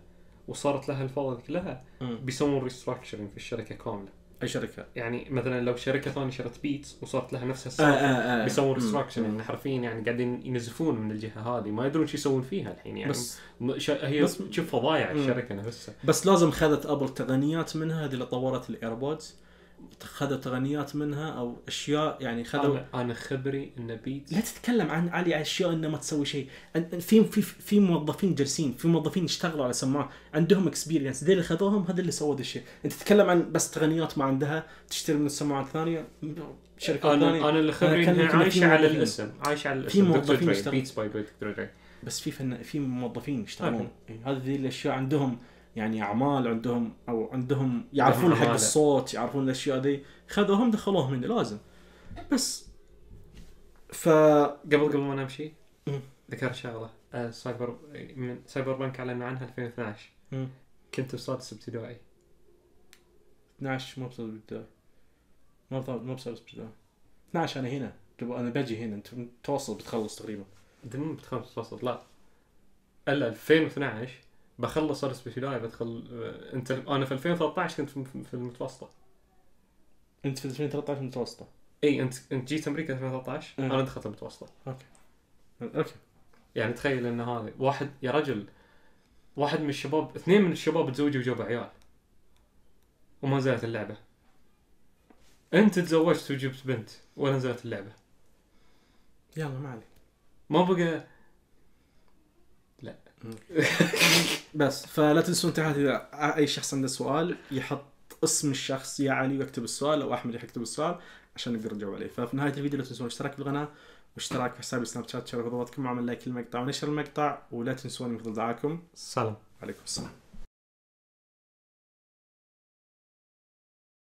وصارت لها الفوضى كلها بيسوون ريستراكشرنج في الشركه كامله. اي شركه يعني مثلا لو شركه ثانيه شرت بيتس وصارت لها نفس السالفه بيسوون ريستراكشرنج حرفيا يعني قاعدين ينزفون من الجهه هذه ما يدرون شو يسوون فيها الحين يعني بس هي بس تشوف فضايع الشركه نفسها. بس لازم خذت ابل تقنيات منها هذه اللي طورت الايربودز خذوا تقنيات منها او اشياء يعني خذوا. انا خبري ان بيتس لا تتكلم عن علي اشياء انه ما تسوي شيء. في موظفين جالسين في موظفين يشتغلوا على سماعه عندهم اكسبيرينس ذي اللي خذوهم هذا اللي سووا ذا الشيء. انت تتكلم عن بس تقنيات ما عندها تشتري من السماعات الثانيه شركه ثانيه. انا اللي خبري انها عايشه على الاسم في موظفين يشتغلون بيتس باي دكتور بس في موظفين يشتغلون هذه الاشياء عندهم يعني أعمال عندهم يعرفون حق الصوت يعرفون الأشياء دي خذوهم دخلوهم من لازم. بس قبل ما نمشي ذكر شغلة سايبر بانك أعلن عنها 2012 كنت بسادس ابتدائي 12 مو بسادس ابتدائي مو بسادس ابتدائي 12 أنا هنا أنا بجي هنا أنت توصل بتخلص تقريبا أنت مو بتخلص توصل لا إلا 2012 بخلص سادس ابتدائي بدخل انت انا في 2013 كنت في المتوسطه. انت في 2013 متوسطه اي انت جيت امريكا 2013 انا دخلت المتوسطه. اوكي يعني تخيل ان هذا واحد يا رجل واحد من الشباب اثنين من الشباب تزوجوا وجابوا عيال وما نزلت اللعبه. انت تزوجت وجبت بنت ولا نزلت اللعبه. يلا ما عليك ما بقى لا بس فلا تنسون تحت إذا أي شخص عنده سؤال يحط اسم الشخص يا علي ويكتب السؤال أو أحمد يكتب السؤال عشان نقدر نجاوب عليه. ففي نهاية الفيديو لا تنسون الاشتراك بالقناة واشتراك في حسابي سناب شات شاركوا خطواتكم وعمل لايك للمقطع ونشر المقطع ولا تنسون مثل دعاكم. السلام عليكم السلام.